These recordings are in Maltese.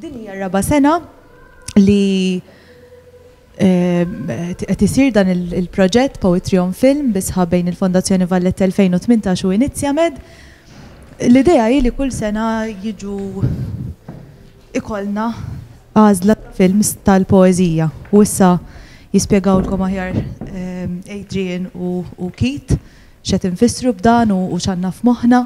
Din hija r-raba' sena li qed isir dan il-proġett Poetry on Film bi sħab bejn il-Fondazzjoni Valletta 2018 u Inizjamed. L-idea hi li kull sena jiġu ikollna għażla ta' films tal-poeżija u issa jispjegawlkom aħjar Adrian u Keith x'qed infissru b'dan u x'għandna f'moħħna.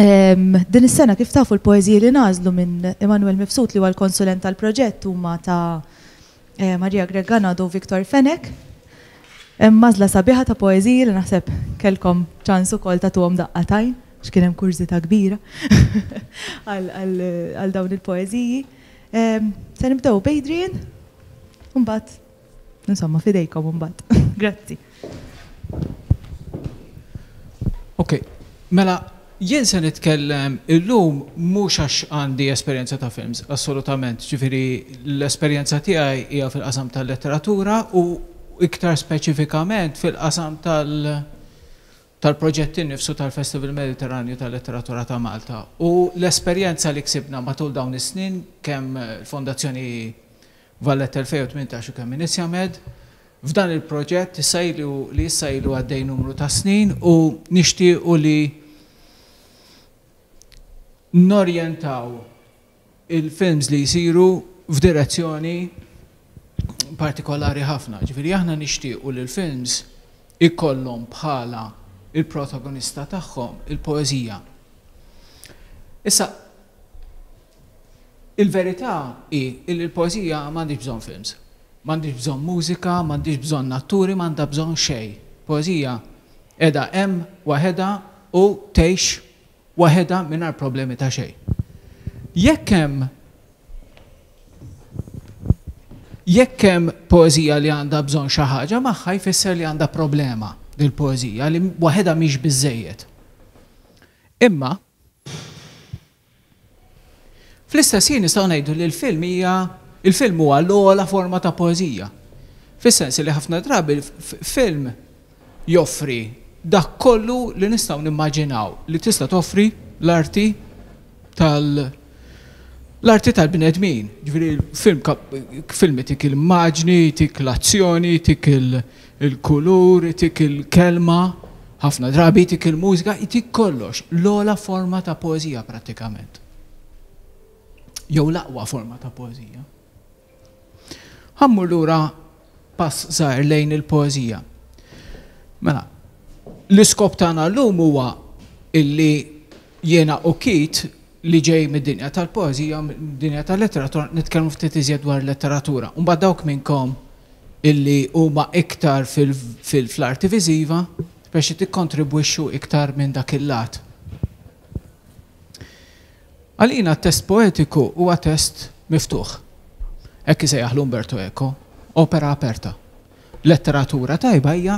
Din is-sena kif tafu l-poeżiji li ngħażlu minn Immanuel Mifsud li huwa l-konsulent tal-proġett huma ta' Maria Grech Ganado u Victor Fenech. Hemm għażla sabiħa ta' poeżiji li naħseb kellkom ċans ukoll tagħtuhom daqqa t'għajn għax kien hemm kurżità kbira għal dawn il-poeżiji. Se nibdew b'Adrian u mbagħad Insomma, f'idejkom imbagħad. Grazzi. Ok, mela jien se nitkellem illum mhux għax għandi esperjenza ta' films, assolutament, ġifieri l-esperjenza tiegħi hija fil-qasam tal-letteratura u iktar speċifikament fil-qasam tal- tal-proġett innifsu tal-Festival Mediterranju tal-Letteratura ta' Malta u l-esperjenza li ksibna matul dawn is-snin kemm il-Fondazzjoni Valletta 2018 u kemm Inizjamed f'dan il-proġett issa ilu li issa ilu għaddej numru ta' snin u nixtiequ li norjentaw il-films li jsiru f'direzzjoni partikolari ħafna. Ġifieri aħna nixtiequ li l-films ikollhom bħala il-protagonista tagħhom il-poeżija. Issa, il-verità hi li l-poeżija m'għandhiex bżonn films. M'għandhiex bżonn mużika, m'għandhiex bżonn atturi, m'għandha bżonn xejn. Poeżija qiegħda hemm waħedha u tgħix waħedha mingħajr problemi ta' xejn. Jekk hemm Jekk hemm poeżija li għandha bżonn xi ħaġa magħha jfisser li għandha problema dil-poeżija li waħedha mhix biżżejjed. Imma fl-istess ħin nistgħu ngħidu li l-film hija il-film huwa l-ogħla forma ta' poeżija. Fis-sens li ħafna drabi film joffri dak kollu li nistgħu nimmaġinaw li tista' toffri l-arti tal l-arti tal-bnedmin. Ġifieri film film itik il-immaġni, itik l-azzjoni, itik il-kulur, itik il-kelma, ħafna drabi itik il-mużika, itik kollox. L-ogħla forma ta' poeżija prattikament. Jew l-aqwa forma ta' poeżija. Ħa mmur lura pass żgħir lejn il-poeżija. Mela, l-iskop tagħna llum huwa illi jiena u Keith li ġej mid-dinja tal-poeżija, mid-dinja tal-letteratura, nitkellmu ftit iżjed dwar letteratura. U mbagħad dawk minnkom illi huma iktar fil-arti viżiva biex tikkontribwixxu iktar minn dak il-lat. Għalina t-test poetiku huwa test miftuħ. Hekk isejjaħlu Umberto Eco, opera aperta. Letteratura tajba hija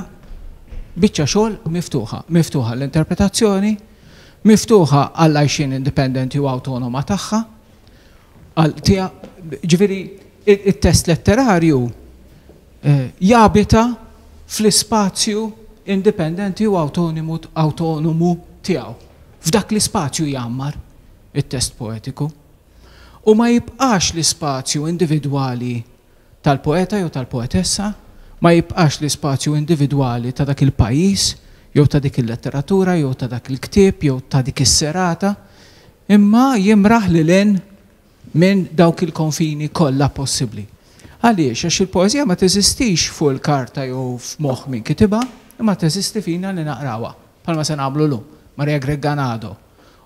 biċċa xogħol miftuħa, miftuħa għall-interpretazzjoni, miftuħa għall-għajxien indipendenti u awtonoma tagħha, għal ġifieri it-test letterarju eh, jabita fl-ispazju indipendenti u awtonomu tiegħu. F'dak l-ispazju jgħammar it-test poetiku. U ma jibqax l-ispazju individwali tal-poeta jew tal-poetessa, ma jibqax l-ispazju individwali ta' dak il-pajjiż jew ta' dik il-letteratura jew ta' dak il-ktieb jew ta' dik is-serata, imma jimraħ lil hinn minn dawk il-konfini kollha possibbli. Għaliex? Għax il-poeżija ma teżistix fuq il-karta jew f'moħħ min kitibha, imma teżisti fina li naqrawha. Bħalma se nagħmlu llum. Maria Grech Ganado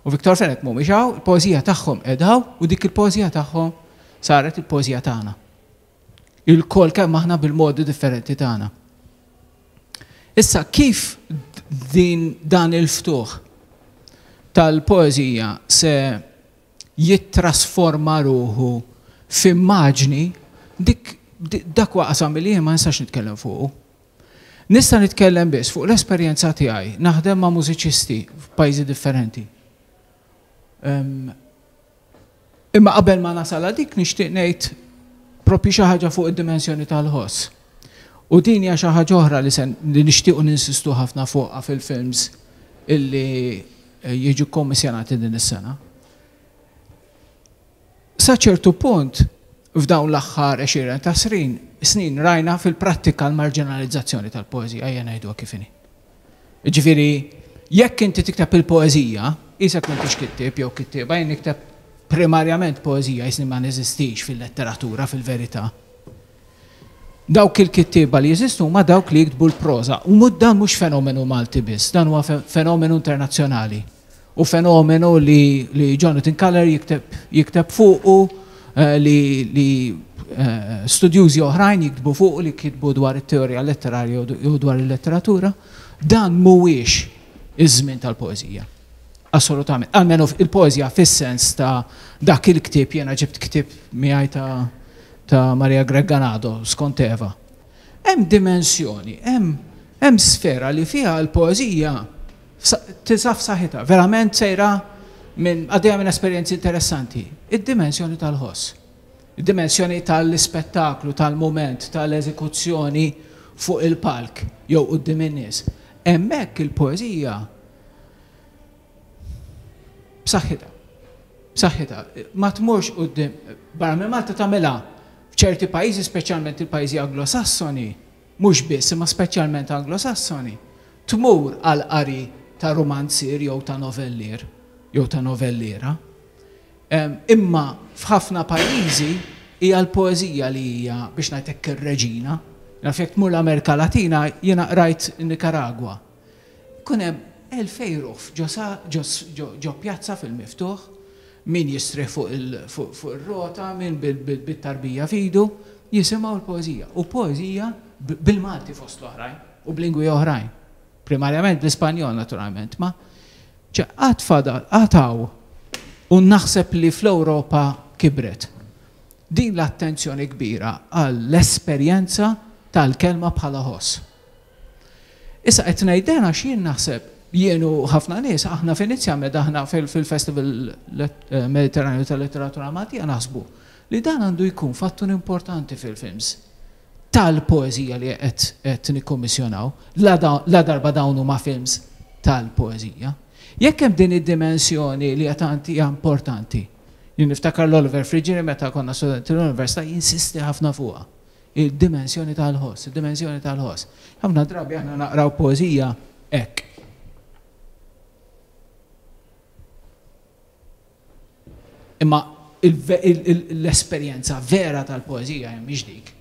u Victor Fenech mhumiex hawn, il-poeżija tagħhom qiegħda hawn u dik il-poeżija tagħhom saret il-poeżija tagħna. Ilkoll kemm aħna bil-modi differenti tagħna. Issa kif din dan il-ftuħ tal-poeżija se jittrasforma ruħu f'immaġni, dik dak huwa qasam li jien ma nistax nitkellem fuqu. Nista' nitkellem biss fuq l-esperjenza tiegħi naħdem ma' mużiċisti f'pajjiżi differenti. Imma qabel ma nasal għal dik nixtieq ngħid propju xi ħaġa fuq id-dimensjoni tal-ħoss. U din hija xi ħaġa oħra li se li nixtiequ ninsistu ħafna fuqha fil-films illi jiġu kkommissjonati din is-sena. Sa ċertu punt, f'dawn l-aħħar għexieren ta' srin, snin rajna fil-prattika l-marġinalizzazzjoni tal-poeżija, ejja ngħiduha kif inhi. Jiġifieri, jekk inti tikteb il-poeżija, qisek m'intix kittieb jew kittieba, jien nikteb primarjament poeżija, qisni ma neżistix fil-letteratura fil-verità. Dawk il-kittieba li jeżistu huma dawk li jiktbu l-proża. U dan mhux fenomenu Malti biss, dan huwa fenomenu internazzjonali. U fenomenu li, li Jonathan Culler jikteb, jikteb fuqu, eh, li, li eh, studjużi oħrajn jiktbu fuqu li kitbu dwar it-teorija letterarja jew dwar il-letteratura. Dan mhuwiex iż-żmien tal-poeżija. Assolutament. Almenu il-poeżija fis-sens ta' dak il-ktieb jiena ġibt ktieb miegħi ta' ta' Maria Grech Ganado skont Eva. Hemm dimensjoni, hemm hemm sfera li fiha l-poeżija tinsab f'saħħitha, verament sejra minn għaddejja minn esperjenzi interessanti. Id-dimensjoni tal-ħoss. Id-dimensjoni tal-ispettaklu, tal-mument, tal-eżekuzzjoni fuq il-palk jew quddiem in-nies. Hemmhekk il-poeżija b'saħħitha. B'saħħitha. Ma tmurx quddiem, barra minn Malta tagħmilha f'ċerti pajjiżi, speċjalment il-pajjiżi Anglosassoni, mhux biss, imma speċjalment Anglosassoni, tmur għal qari ta' rumanzier jew ta' novellier jew ta' novelliera. Imma f'ħafna pajjiżi hija l-poeżija li hija biex ngħid hekk ir-reġina. Naf jekk tmur l-Amerika Latina, jiena qrajt Nicaragua. Ikun hemm 2000 ruħ ġo pjazza fil-miftuħ, min jistrieħ fuq ir-rota, min bit-tarbija f'idu, jisimgħu l-poeżija. U poeżija bil-Malti fost l-oħrajn u b'lingwi oħrajn. Primarjament bl-Ispanjol naturalment, ma għad fadal, għad hawn u naħseb li fl-Ewropa kibret. Din l-attenzjoni kbira għall-esperjenza tal-kelma bħala ħoss. Issa qed ngħid dan għax jien naħseb, jien u ħafna nies, aħna f'Inizjamed, aħna fil-Festival Mediterranju tal-Letteratura Maltija naħsbu li dan għandu jkun fattur importanti fil-films tal-poeżija li qed nikkummissjonaw, la darba dawn huma films tal-poeżija. Jekk hemm din id-dimensjoni li hija tant hija importanti, jien niftakar l-Oliver Friggieri meta konna studenti l-università jinsisti ħafna fuqha. Il-dimensjoni tal-ħoss, id-dimensjoni tal-ħoss. Ħafna drabi aħna naqraw poeżija hekk. Imma l-esperjenza vera tal-poeżija mhix dik.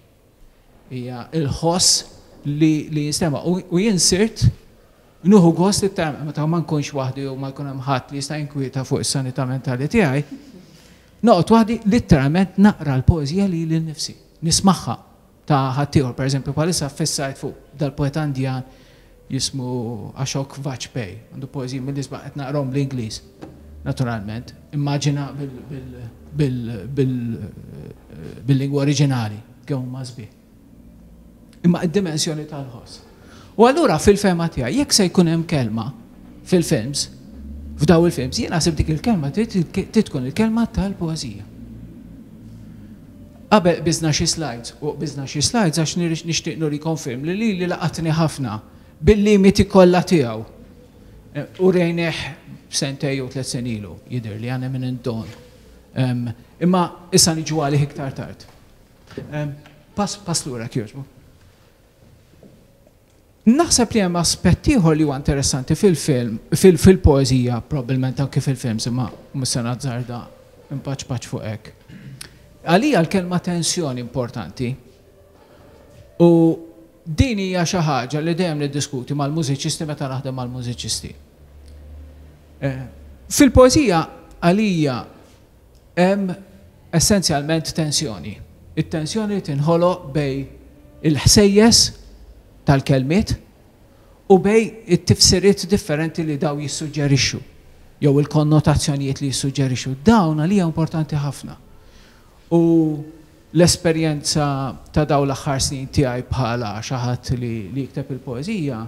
Hija l-ħoss li jinstema'. U jien sirt Nieħu gost iktar meta ma nkunx waħdi u ma jkun hemm ħadd li jista' jinkwieta fuq is-sanità mentali tiegħi, noqgħod waħdi litteralment naqra l-poeżija lili nnifsi, nismagħha ta' ħaddieħor. Pereżempju bħalissa ffissajt fuq dal-poeta Indjan jismu Ashok Vajpayee, għandu poeżiji mill-isbaħ qed naqrahom bl-Ingliż, naturalment, immaġina bil-lingwa oriġinali kemm huma sbieħ. Imma id-dimensjoni tal-ħoss. U allura fil-fehma tiegħi jekk se jkun hemm kelma fil-films, f'daw il-films, jien naħseb dik il-kelma trid tkun il-kelma tal-poeżija. Qabel qbiżna xi slides, u qbiżna xi slides għax nixtieq nurikom film li lili laqatni ħafna bil-limiti kollha tiegħu. Eh, u rejnieh sentej jew tliet snin ilu, jidhirli għandna minn inton. Imma issa niġu għalih iktar tard. Pass, pass lura jekk jogħġbok. Naħseb li hemm aspett ieħor li huwa interessanti fil-film, fil-poeżija, probabbilment anke fil-films, imma mhux se nazzarda npaċpaċ fuq hekk. Għalija l-kelma tensjoni importanti. U din hija xi ħaġa li dejjem niddiskuti mal-mużiċisti meta naħdem mal-mużiċisti. Eh, fil-poeżija għalija Hemm essenzjalment tensjoni. It-tensjoni li tinħoloq bejn il-ħsejjes tal-kelmiet u bejn it-tifsiriet differenti li dawn jissuġġerixxu jew il-konnotazzjonijiet li jissuġġerixxu. Dawn għalija importanti ħafna. U l-esperjenza ta' dawn l-aħħar snin tiegħi bħala xi ħadd li jikteb il-poeżija,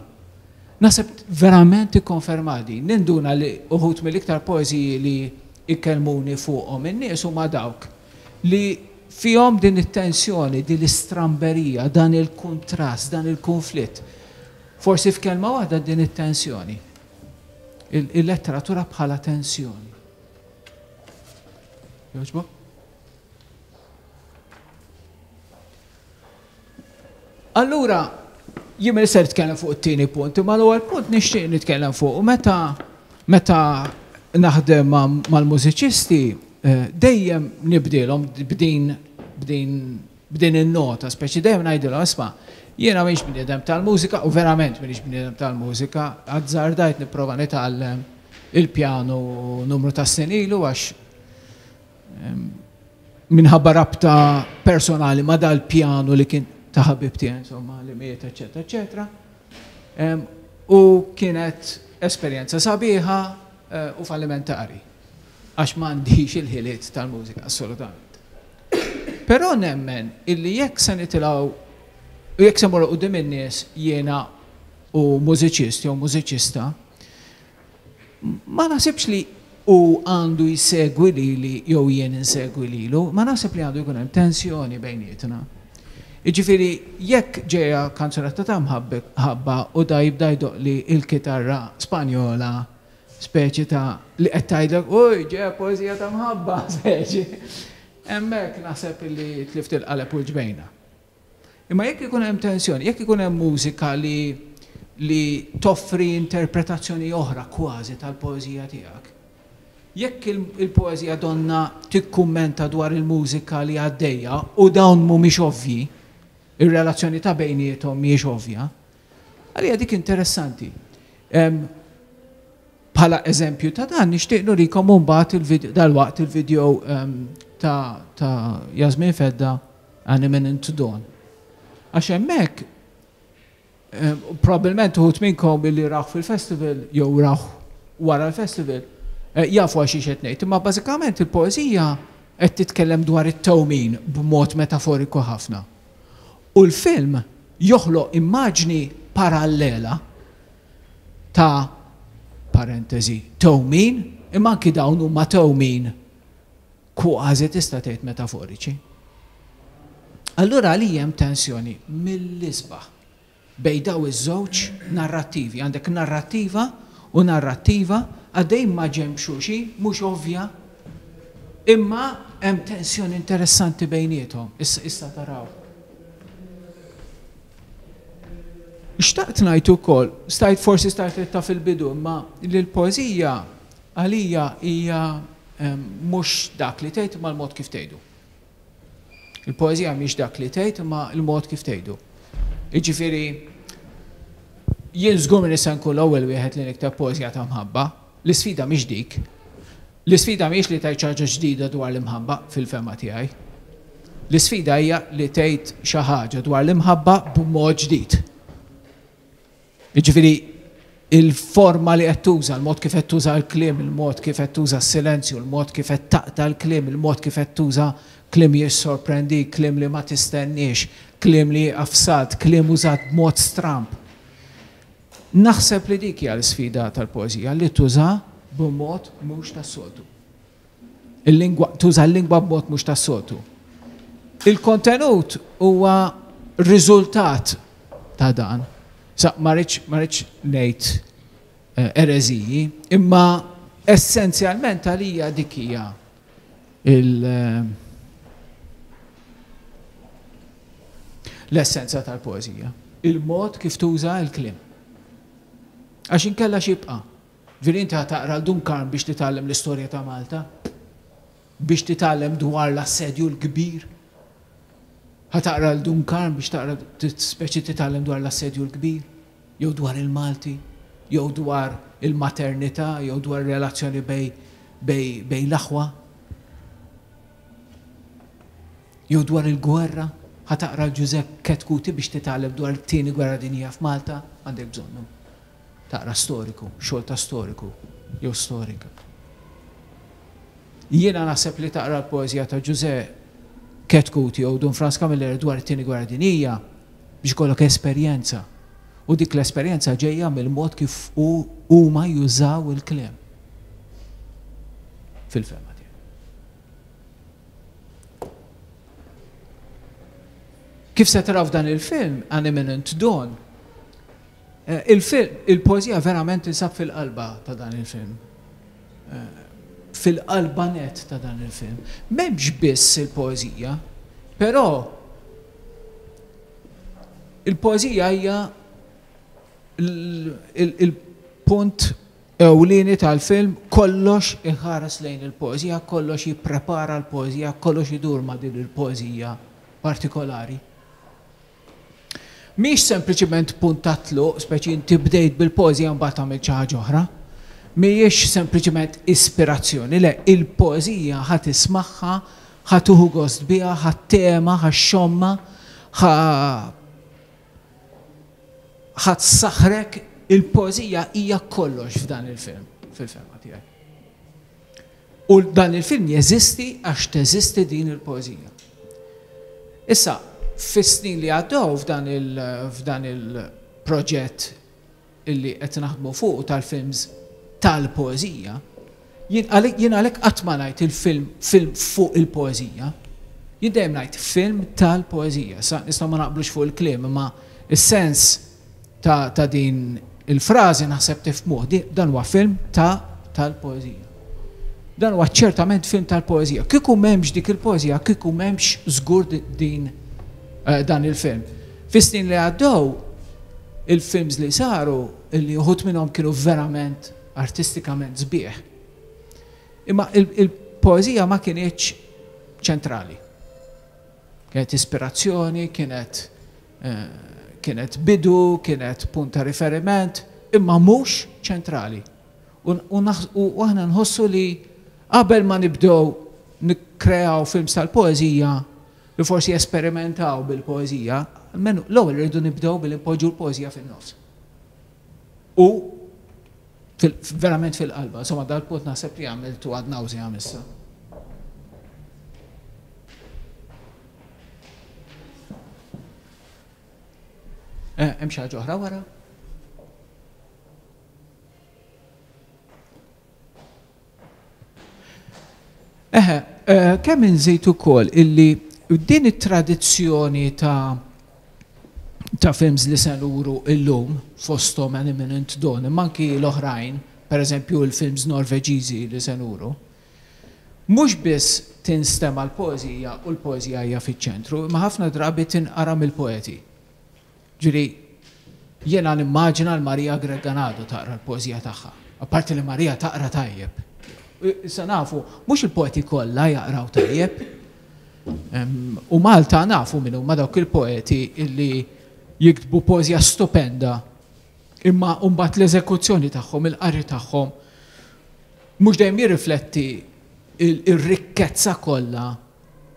Naħseb verament tikkonferma din. Ninduna li uħud mill-iktar poeżiji li jkellmuni fuqhom in-nies huma dawk li fihom din it-tensjoni, din l-istramberija, dan il-kuntrast, dan il-kunflitt. Forsi f'kelma waħda din it-tensjoni. Il-letteratura bħala tensjoni. Jogħġbok? Allura, jien m'iniex ser nitkellem fuq it-tieni punt, imma l-ewwel punt nixtieq nitkellem fuq meta meta naħdem mal-mużiċisti eh, dejjem nibdilhom b'din b'din b'din in-nota, speċi dejjem ngħidilhom isma' jiena m'iniex bniedem tal-mużika u verament m'iniex bniedem tal-mużika, azzardajt nipprova nitgħallem il-pjanu numru ta' snin ilu għax minħabba rabta personali ma' dal-pjanu li kien ta' ħabib tiegħi insomma li miet, eċetera, eċetera. U kienet esperjenza sabiħa eh, u fallimentari għax m'għandix il-ħiliet tal-mużika assolutament. Però nemmen illi jekk se nitilgħu u jekk se morru quddiem in-nies jiena u mużiċist jew mużiċista, Ma naħsibx li hu għandu jsegwi lili jew jien insegwi lilu, ma naħseb li għandu jkun hemm tensjoni bejnietna. Jiġifieri jekk ġejja kanzunetta ta' mħabba u da jibda jdoqqli l-kitarra Spanjola speċi ta' li qed tgħidlek uj ġejja poeżija ta' mħabba speċi. Hemmhekk naħseb li tlift il-qaleb u l-ġbejna. Imma jekk ikun hemm tensjoni, jekk ikun hemm mużika li li toffri interpretazzjoni oħra kważi tal-poeżija tiegħek, jekk il-poeżija donnha tikkummenta dwar il-mużika li għaddejja u dawn mhumiex ovvji, ir-relazzjoni ta' bejniethom mhijiex ovvja, għalija dik interessanti. Bħala eżempju ta' dan nixtieq nurikom imbagħad dalwaqt il-video ta' ta' Jasmine Fedda An Imminent Dawn. Għax hemmhekk probabbilment uħud minnkom illi rawh fil-festival jew rawh wara l-festival jafu għal xiex qed ngħid, imma bażikament il-poeżija qed titkellem dwar it-tewmin b'mod metaforiku ħafna. U l-film joħloq immaġni parallela ta' parentesi tewmin, imma anki dawn huma tewmin kważi tista' tgħid metaforiċi. Allura għalija hemm tensjoni mill-isbaħ bejn daw iż-żewġ narrattivi. Għandek narrattiva u narrattiva għaddejjin ma' ġenb xulxin, mhux ovvja, imma hemm tensjoni interessanti bejniethom. Issa, issa taraw. Xtaqt ngħid ukoll, stajt forsi stajt ta' fil-bidu, imma li l-poeżija għalija hija mhux dak li tgħid imma l-mod kif tgħidu. Il-poeżija mhix dak li tgħid imma l-mod kif tgħidu. Jiġifieri jien żgur m'iniex se nkun l-ewwel wieħed li nikteb poeżija ta' mħabba. L-isfida mhix dik. L-isfida mhijiex li tgħid xi ħaġa ġdida dwar l-imħabba fil-fehma tiegħi. L-isfida hija li tgħid xi ħaġa dwar l-imħabba b'mod ġdid. Jiġifieri il-forma li qed tuża, il-mod kif qed tuża l-kliem, il-mod kif qed tuża s-silenzju, il-mod kif qed taqta' l-kliem, il-mod kif qed tuża kliem jissorprendik, kliem li ma tistenniex, kliem li jieqaf salt, kliem użat b'mod stramb. Naħseb li dik hija l-isfida tal-poeżija, li tuża b'mod mhux tas-soltu. Il-lingwa, tuża l-lingwa b'mod mhux tas-soltu. Il-kontenut huwa riżultat ta' dan. Sa ma rridx ma rridx ngħid eh, ereżiji, imma essenzjalment għalija dik hija il eh, l-essenza tal-poeżija. Il-mod kif tuża l-kliem. Għax inkella x'jibqa'? Ġifieri inti ħa taqra 'l Dun Karm biex titgħallem l-istorja ta' Malta? Biex titgħallem dwar l-Assedju l-Kbir? Ħa taqra 'l Dun Karm biex taqra speċi titgħallem dwar l-Assedju l-Kbir? Jew dwar il-Malti? Jew dwar il-maternità? Jew dwar ir-relazzjoni bejn bejn bejn l-aħwa? Jew dwar il-gwerra? Ħa taqra 'l Ġużepp Chetcuti biex titgħallem dwar it-Tieni Gwerra Dinjija f'Malta? Għandek bżonnu. Taqra storiku, xogħol ta' storiku jew storika. Jiena naħseb li taqra l-poeżija ta' Ġużè Chetcuti jew Dun Frans Camilleri dwar it-Tieni Gwerra Dinjija biex ikollok esperjenza. U dik l-esperjenza ġejja mill-mod kif hu huma jużaw il-kliem. Fil-fehma tiegħi. Kif se taraw f'dan il-film, An Imminent Dawn, Il-film, il-poeżija verament tinsab fil-qalba ta' dan il-film. Fil-qalba nett ta' dan il-film. M'hemmx biss il-poeżija, però Il-poeżija hija il-punt ewlieni tal-film, kollox iħares lejn il-poeżija, kollox jipprepara l-poeżija, kollox idur ma' din il-poeżija partikolari. Mhix sempliċiment punt ta' tluq, speċi inti bdejt bil-poeżija mbagħad għamilt xi ħaġa oħra. Mhijiex sempliċiment ispirazzjoni, le, il-poeżija ħa tismagħha, ħa tieħu gost biha, ħa ttema, ħa xxommha, ħa ħa tsaħħrek, il-poeżija hija kollox f'dan il-film, fil-fehma tiegħi. U dan il-film jeżisti għax teżisti din il-poeżija. Issa, fis-snin li għaddew f'dan il-proġett illi qed naħdmu fuq tal-films tal-poeżija, jien għalhekk qatt ma ngħid il-film film fuq il-poeżija. Jien dejjem ngħid film tal-poeżija. Sa nistgħu ma naqblux fuq il-kliem, imma is-sens ta' din il-frażi naħseb tifhmuh. Dan huwa film ta' tal-poeżija. Dan huwa ċertament film tal-poeżija. Kieku m'hemmx dik il-poeżija, kieku m'hemmx żgur din dan il-film. Fis-snin li għaddew, il-films li saru, illi uħud minnhom kienu verament artistikament sbieħ, imma il-poeżija ma kinitx ċentrali. Kienet ispirazzjoni, kienet kienet bidu, kienet punt ta' riferiment, imma mhux ċentrali. U aħna nħossu li qabel ma nibdew nikkreaw films tal-poeżija li forsi jesperimentaw bil-poeżija, almenu l-ewwel irridu nibdew billi npoġġu l-poeżija fin-nofs. U verament fil-qalba. Insomma, dal-punt naħseb li għamiltu ad nauseam issa. Hemm xi ħaġa oħra wara? Eħe, kemm inżid ukoll illi din it-tradizzjoni ta' ta' films li se nuru illum fosthom An Imminent Dawn, imma anki l-oħrajn, pereżempju l-films Norveġiżi li se nuru, mhux biss tinstema' l-poeżija u l-poeżija hija fiċ-ċentru, imma ħafna drabi tinqara mill-poeti. Ġifieri, jiena nimmaġina 'l Maria Grech Ganado taqra l-poeżija tagħha. Apparti li Maria taqra tajjeb. Issa nafu, mhux il-poeti kollha jaqraw tajjeb. U Malta nafu min huma dawk il-poeti illi jiktbu poeżija stupenda imma mbagħad l-eżekuzzjoni tagħhom, il-qari tagħhom mhux dejjem jirrifletti ir-rikkezza kollha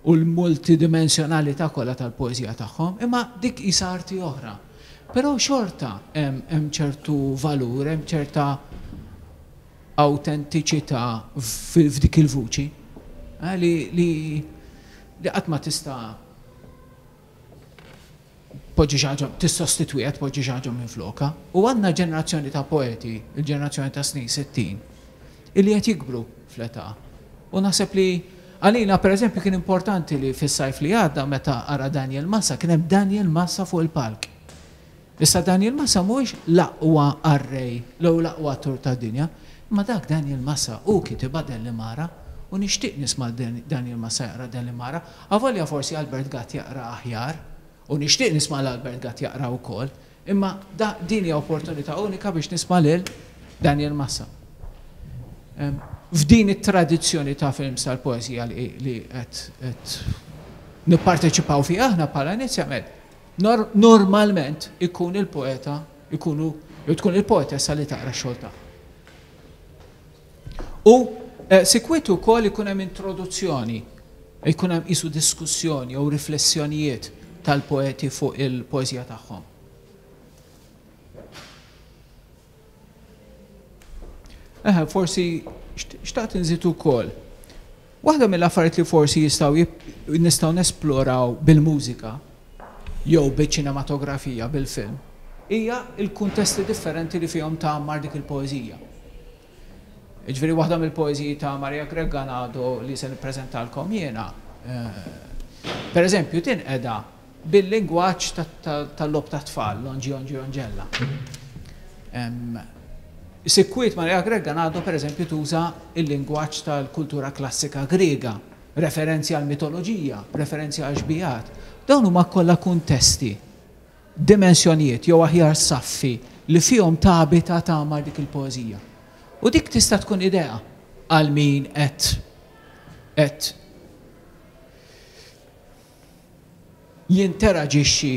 u l-multidimensjonalità kollha tal-poeżija tagħhom, imma dik qisha arti oħra. Però xorta hemm ċertu valur, hemm ċerta awtentiċità f'dik il-vuċi li li qatt ma tista' tpoġġi xi ħaġa, tissostitwiha, tpoġġi xi ħaġa minflokha. U għandna ġenerazzjoni ta' poeti, il-ġenerazzjoni tas-snin 60, illi qed jikbru fl-età. U naħseb li għalina pereżempju kien importanti li fis-sajf li għadda meta qara Daniel Massa kien hemm Daniel Massa fuq il-palk. Issa Daniel Massa mhuwiex l-aqwa qarrej jew l-aqwa attur tad-dinja, imma dak Daniel Massa hu kitibha Dellimara u nixtieq nisma' Daniel Massa jaqra Dellimara, avolja forsi Albert Gatt jaqra aħjar u nixtieq nisma' 'l Albert Gatt jaqra wkoll, imma da din hija opportunità unika biex nisma' lil Daniel Massa. F'din it-tradizzjoni ta' films tal-poeżija li qed nipparteċipaw fiha aħna bħala Inizjamed, Normalment ikun il-poeta, ikunu, jew tkun il-poetessa li taqra x-xogħol tagħha. U eh, sikwit ukoll ikun hemm introduzzjoni, ikun hemm qisu diskussjoni jew riflessjonijiet tal-poeti fuq il-poeżija tagħhom. Eħe, forsi xtaqt inżid ukoll. Waħda mill-affarijiet li forsi jistgħu nistgħu nesploraw bil-mużika jew biċ-ċinematografija, bil-film, hija l-kuntesti differenti li fihom tgħammar dik il-poeżija. Jiġifieri waħda mill-poeżiji ta' Maria Grech Ganado li se nippreżentalkom jiena, pereżempju, tinqeda bil-lingwaġġ tal-logħob tat-tfal, Lonġi Onġi Onġella. Sikwit Maria Grech Ganado pereżempju tuża l-lingwaġġ tal-kultura klassika Griega, referenzi għall-mitoloġija, referenzi għal xbijat. Dawn huma kollha kuntesti. dimensjonijiet jew aħjar saffi li fihom tabita tagħmar dik il-poeżija. U dik tista' tkun idea għal min qed qed jinteraġixxi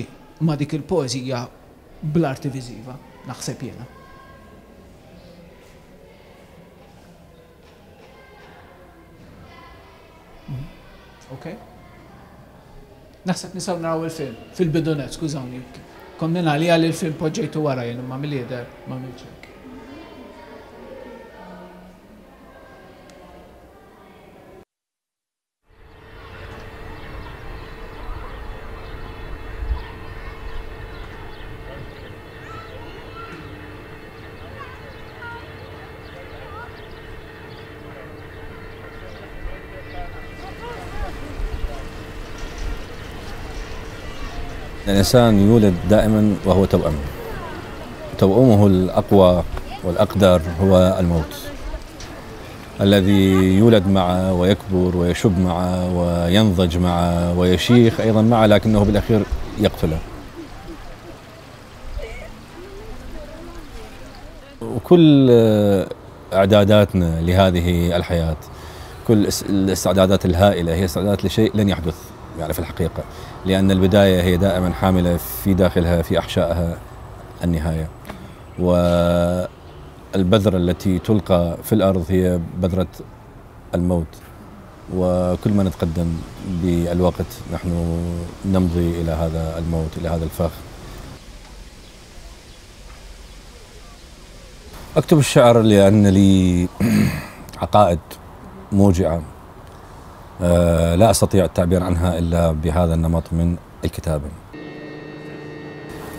ma' dik il-poeżija bl-arti viżiva, naħseb jiena. Ok? Naħseb nistgħu naraw il-film fil-bidu nett, skużawni. Kont minn għalija li l-film poġġejtu wara jien imma mill-jidher ma għamiltx hekk. الإنسان يولد دائما وهو توأم. توأمه الأقوى والأقدر هو الموت، الذي يولد معه ويكبر ويشب معه وينضج معه ويشيخ أيضا معه، لكنه بالأخير يقتله. وكل إعداداتنا لهذه الحياة، كل الاستعدادات الهائلة هي استعدادات لشيء لن يحدث في الحقيقة، لأن البداية هي دائما حاملة في داخلها في أحشائها النهاية، والبذرة التي تلقى في الأرض هي بذرة الموت، وكل ما نتقدم بالوقت نحن نمضي إلى هذا الموت، إلى هذا الفخ. أكتب الشعر لأن لي عقائد موجعة، لا أستطيع التعبير عنها إلا بهذا النمط من الكتابة.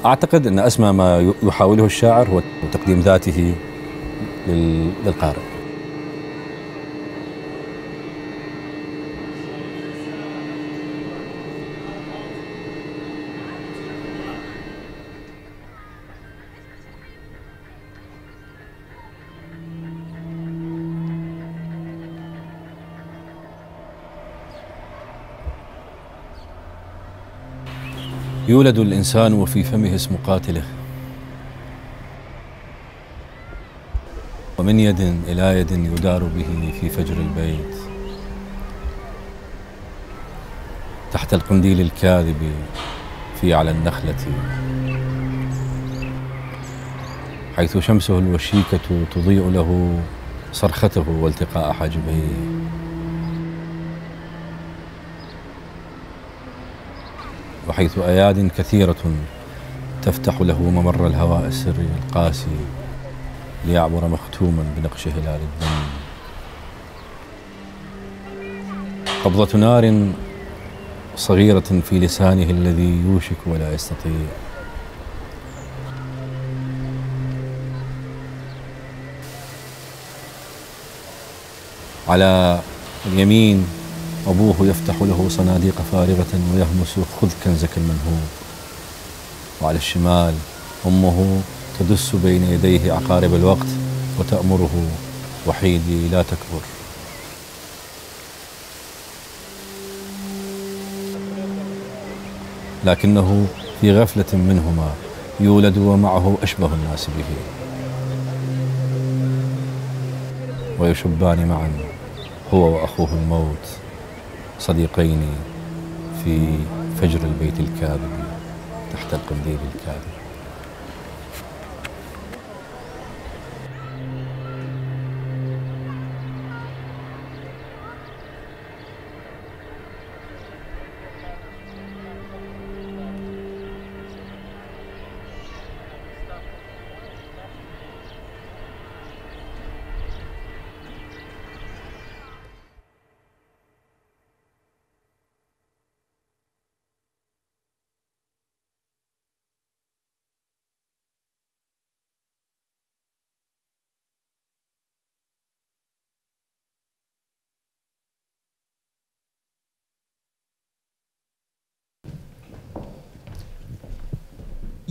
أعتقد أن أسمى ما يحاوله الشاعر هو تقديم ذاته للقارئ. يولد الإنسان وفي فمه اسم قاتله، ومن يد إلى يد يدار به في فجر البيت تحت القنديل الكاذب في على النخلة، حيث شمسه الوشيكة تضيء له صرخته والتقاء حاجبيه. وحيث أياد كثيرة تفتح له ممر الهواء السري القاسي ليعبر مختوما بنقش هلال الدم. قبضة نار صغيرة في لسانه الذي يوشك ولا يستطيع. على اليمين أبوه يفتح له صناديق فارغة ويهمس خذ كنزك المنهوب، وعلى الشمال أمه تدس بين يديه عقارب الوقت وتأمره وحيدي لا تكبر. لكنه في غفلة منهما يولد ومعه أشبه الناس به، ويشبان معا هو وأخوه الموت صديقين في فجر البيت الكاذب تحت القنديل الكاذب.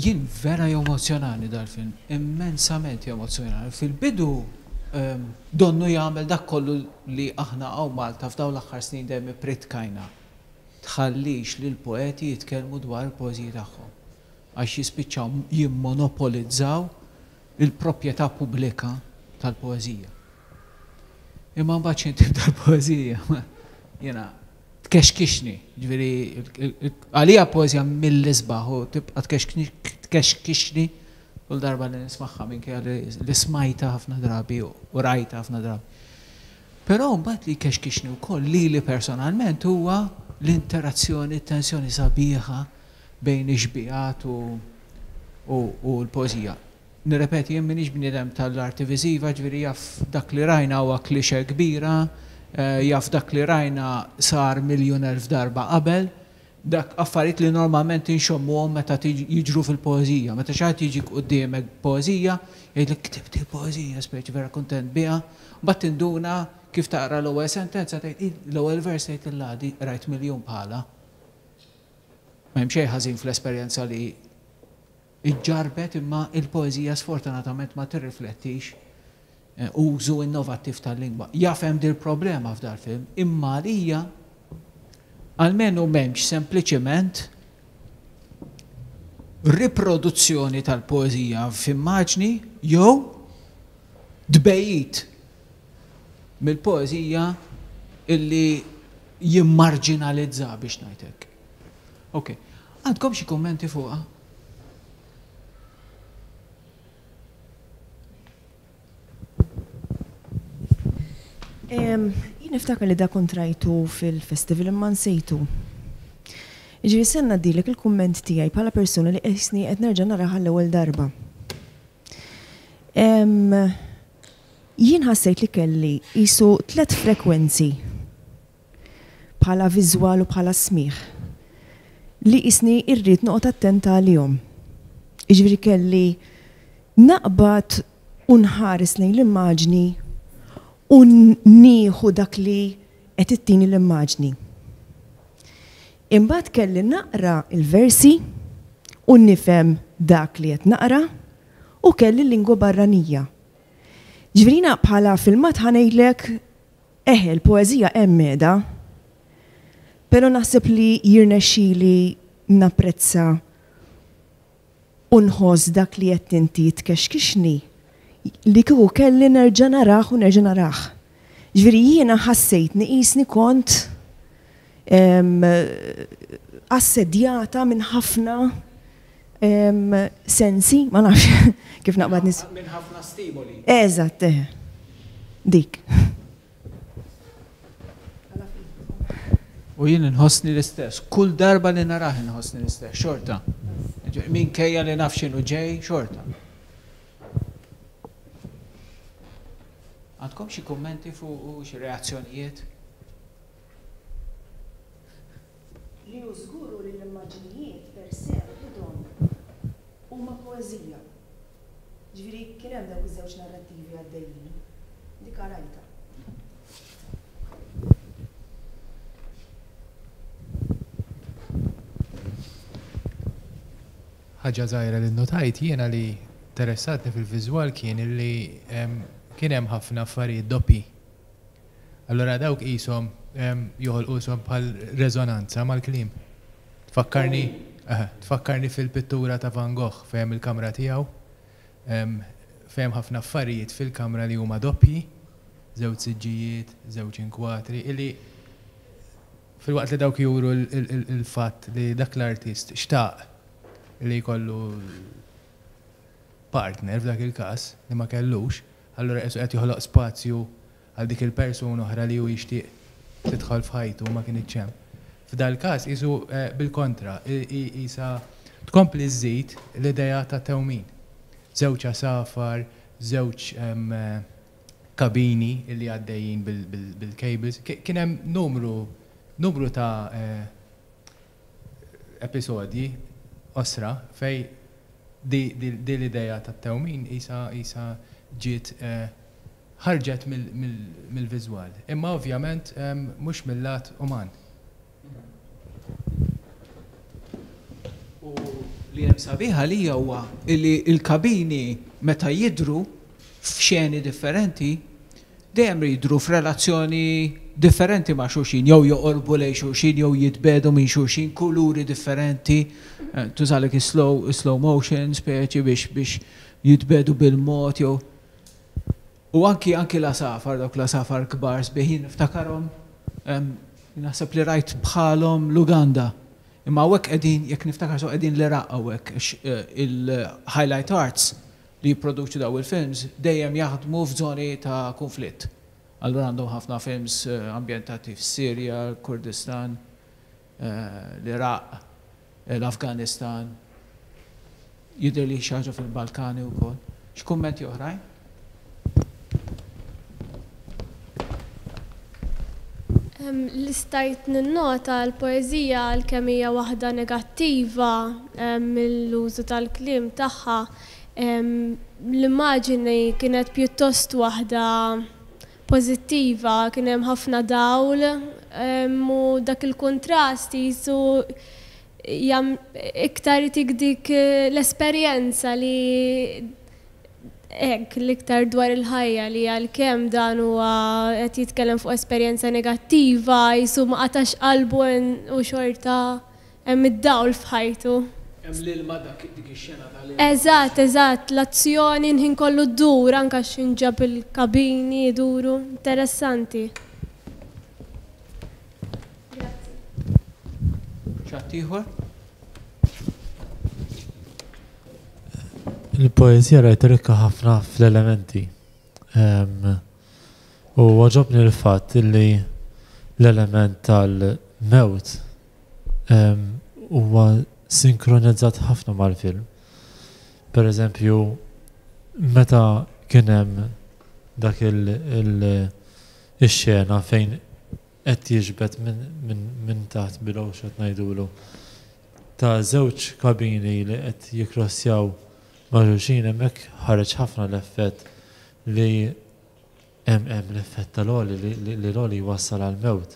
Jien vera jemozzjonani dal-film, immensament jemozzjonani. Fil-bidu donnu jagħmel dak kollu li aħna hawn Malta f'dawn l-aħħar snin dejjem ippritkajna. Tħallix lil poeti jitkellmu dwar il-poeżiji tagħhom. għax jispiċċaw jimmonopolizzaw il-proprjetà pubblika tal-poeżija. Imma mbagħad xejn tibda l-poeżija, jiena tkexkixni, ġifieri għalija poeżija mill-isbaħ u tibqa' tkexkixni kull darba li nismagħha minkejja li smajtha ħafna drabi u rajtha ħafna drabi. Però mbagħad li jkexkixni wkoll lili personalment huwa l-interazzjoni, t-tensjoni sabiħa bejn ix-xbihat u l-poeżija. Nirrepeti, jien m'iniex bniedem tal-arti viżiva, ġifieri jaf dak li rajna huwa cliché kbira, jaf dak li rajna sar 1,000,000 darba qabel, dak affarijiet li normalment inxommuhom meta jiġru fil-poeżija. Meta xi ħadd jiġik quddiemek b'poeżija, jgħidlek ktibt il-poeżija, speċi vera kuntent biha, mbagħad tinduna kif taqra l-ewwel sentenza tgħid, l-ewwel vers tgħid illa di qrajt miljun bħalha. M'hemm xejn ħażin fl-esperjenza li ġġarrbet imma l-poeżija sfortunatament ma tirriflettix użu innovattiv tal-lingwa. Jaf hemm dil-problema f'dal-film, imma għalija almenu m'hemmx sempliċement riproduzzjoni tal-poeżija f'immaġni jew tbegħid mill-poeżija illi jimmarġinalizza biex ngħid hekk. Ok. Għandkom xi kummenti fuqha? Jien niftakar li da kont rajtu fil-festival imma nsejtu. Jiġifieri se ngħaddilek il-kumment tiegħi bħala persuna li qisni qed nerġa' narah għall-ewwel darba. Jien ħassejt li kelli qisu tlett frekwenzi bħala viżwal u bħala smigħ li qisni rrid noqgħod attenta għalihom. Jiġifieri kelli naqbad u nħares lejn l-immaġni u nieħu dak li qed ittini l-immaġni. Imbagħad kelli naqra l-versi u nifhem dak li qed naqra u kelli l-lingwa barranija. Ġifieri jiena bħala filmat ħa ngħidlek Eħe, l-poeżija hemm qiegħda, però naħseb li jirnexxili napprezza u nħoss dak li għedt inti tkexkixni li kieku kelli nerġa' narah u nerġa' narah. Ġifieri jiena ħassejtni qisni kont assedjata minn ħafna sensi, ma nafx kif naqbad nis. Minn ħafna stimoli. Eżatt, eħe. Dik. U jien inħossni l-istess. Kull darba li narah inħossni l-istess, xorta. Minkejja li naf x'inhu ġej, xorta. Għandkom xi kummenti fuq xi reazzjonijiet? Li hu żgur hu li l-immaġnijiet per se waħidhom huma poeżija. Ġifieri kien hemm dawk iż-żewġ narrattivi għaddejjin. Dik rajtha. Ħaġa żgħira li nnotajt jiena li interessatni fil-viżwal kien li kien hemm ħafna affarijiet doppji. Allura dawk qishom joħolqu qishom bħal reżonanza mal-kliem. Tfakkarni, tfakkarni fil-pittura ta' Van Gogh fejn hemm il-kamra tiegħu, fejn hemm ħafna affarijiet fil-kamra li huma doppji, żewġ siġġijiet, żewġ inkwatri, illi filwaqt li dawk juru l-fatt li dak l-artist xtaq li jkollu partner f'dak il-każ li ma kellux, allura qisu qed joħloq spazju għal dik il-persuna oħra li hu jixtieq tidħol f'ħajtu u ma kinitx hemm. F'dal-każ qisu bil-kontra, qisha tkompli żżid l-idea ta' tewmin. Żewġ għasafar, żewġ kabini li għaddejjin bil-cables, kien hemm numru numru ta' episodji qosra fejn di l-idea tat-tewmin qisha qisha ġiet ħarġet mill-viżwal. Imma ovvjament mhux mil-lat uman. U li hemm sabiħ għalija huwa li l-kabini meta jidhru f'xeni differenti. Dejjem jidhru f'relazzjoni differenti ma' xulxin, jew joqorbu lejn xulxin, jew jitbiegħdu minn xulxin, kuluri differenti, tużalek is-slow slow motion speċi biex biex jitbiegħdu bil-mod jew U anki anki l-għasafar, dawk l-għasafar kbar sbieħ jien niftakarhom, naħseb li rajt bħalhom l-Uganda. Imma hawnhekk qegħdin, jekk niftakar sew qegħdin l-Iraq hawnhekk għax il-Highlight Arts li jipproduċu dawn il-films dejjem jaħdmu f'żoni ta' kunflitt. Allura għandhom ħafna films ambjentati fis-Sirja, l-Kurdistan, l-Iraq, l-Afganistan, jidhirli xi ħaġa fil-Balkani wkoll. Xi kummenti oħrajn? Li stajt ninnota l-poeżija għalkemm hija waħda negattiva mill-użu tal-kliem tagħha, l-immaġini kienet pjuttost waħda pożittiva, kien hemm ħafna dawl u dak il-kuntrast qisu iktar itik dik l-esperjenza li hekk l-iktar dwar il-ħajja li għalkemm dan huwa qed jitkellem fuq esperjenza negattiva qisu ma qatax qalbu u xorta hemm id-dawl f'ħajtu. Hemm l-ilma dak dik ix-xena tal-ilma. Eżatt, eżatt, l-azzjoni l-ħin kollu ddur anke x'inġab il-kabini jduru, interessanti. Grazzi. Xi ħadd ieħor? Il-poeżija rajtha rikka ħafna fl-elementi. U għoġobni l-fatt li l-element tal-mewt huwa sinkronizzat ħafna mal-film. Per eżempju, meta kien hemm dak il-xena fejn qed jiġbed minn taħt below x'qed ngħidulu ta' żewġ kabini li qed jikkrossjaw ma' xulxin hemmhekk ħareġ ħafna l-effett li hemm hemm l-effett tal-għoli li l-għoli jwassal għall-mewt.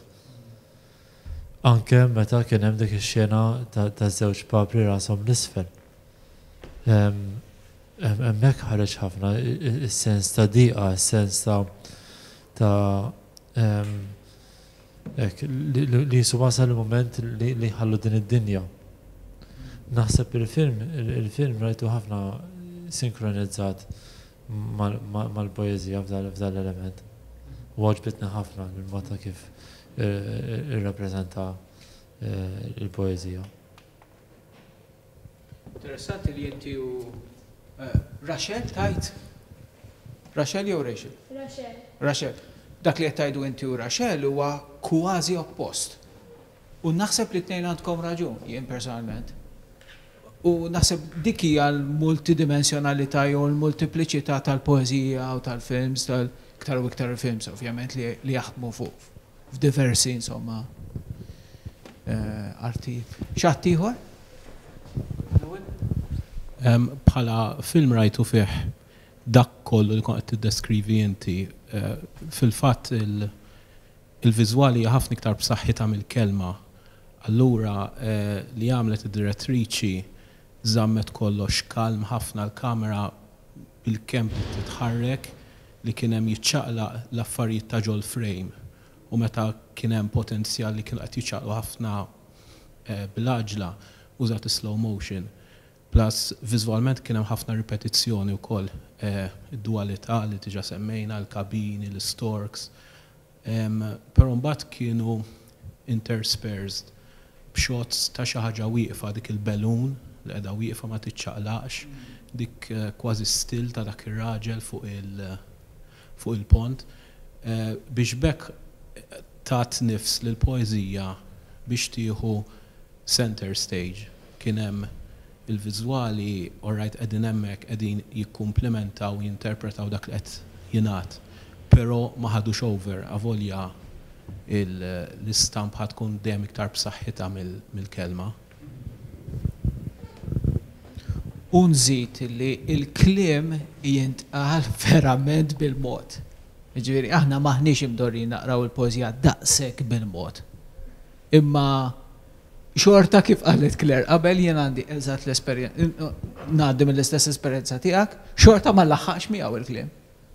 Anke meta kien hemm dik ix-xena taż-żewġ papri rashom 'l isfel. Hemmhekk ħareġ ħafna is-sens ta' diqa, is-sens ta' ta' Hekk, li qisu wasal il-mument li jħallu din id-dinja. Naħseb il-film, il-film rajtu ħafna sinkronizzat mal-poeżija f'dan l-element. U għoġbitni ħafna l-mod ta' kif irrappreżenta l-poeżija. Interessanti li inti u Rachel tgħid? Rachel jew Rachel? Rachel. Rachel. Dak li qed tgħidu inti u Rachel huwa kważi oppost. U naħseb li t-tnejn għandkom raġun, jien personalment. U naħseb dik hija l-multidimensjonalità jew l-multipliċità tal-poeżija u tal-films, tal-iktar u iktar il-films ovvjament li jaħdmu fuq f'diversi insomma artijiet. Xi ħadd ieħor? Bħala film rajtu fih dak kollu li kont qed tiddeskrivi inti. Fil-fatt il-viżwali hija ħafna iktar b'saħħitha mill-kelma. Allura li għamlet id-direttriċi żammet kollox kalm ħafna l-kamera bilkemm bdiet titħarrek li kien hemm jiċċaqlaq l-affarijiet ta' ġol-frame u meta kien hemm potenzjal li kienu qed jiċċaqlqu ħafna bil-għaġla użat is-slow motion. Plus viżwalment kien hemm ħafna ripetizzjoni wkoll, id-duwalità li diġà semmejna, il-kabini, l-istorks. Però mbagħad kienu interspersed b'shots ta' xi ħaġa wieqfa, dik il-balloon li qiegħda wieqfa ma tiċċaqlaqx, dik kważi still ta' dak ir-raġel fuq il fuq il-pont, biex b'hekk tat nifs lill-poeżija biex tieħu center stage. Kien hemm il-viżwali all right qegħdin hemmhekk qegħdin jikkumplimentaw u jinterpretaw dak li qed jingħad, però ma ħadux over avolja l-istampa ħa tkun dejjem iktar b'saħħitha mill-kelma. U nżid li l-kliem jintqal verament bil-mod. Jiġifieri aħna m'aħniex imdorrijin naqraw il-poeżija daqshekk bil-mod. Imma xorta kif qalet Claire qabel jien għandi eżatt l-esperjenza, ngħaddi mill-istess esperjenza tiegħek, xorta ma nlaħħaqx miegħu il-kliem.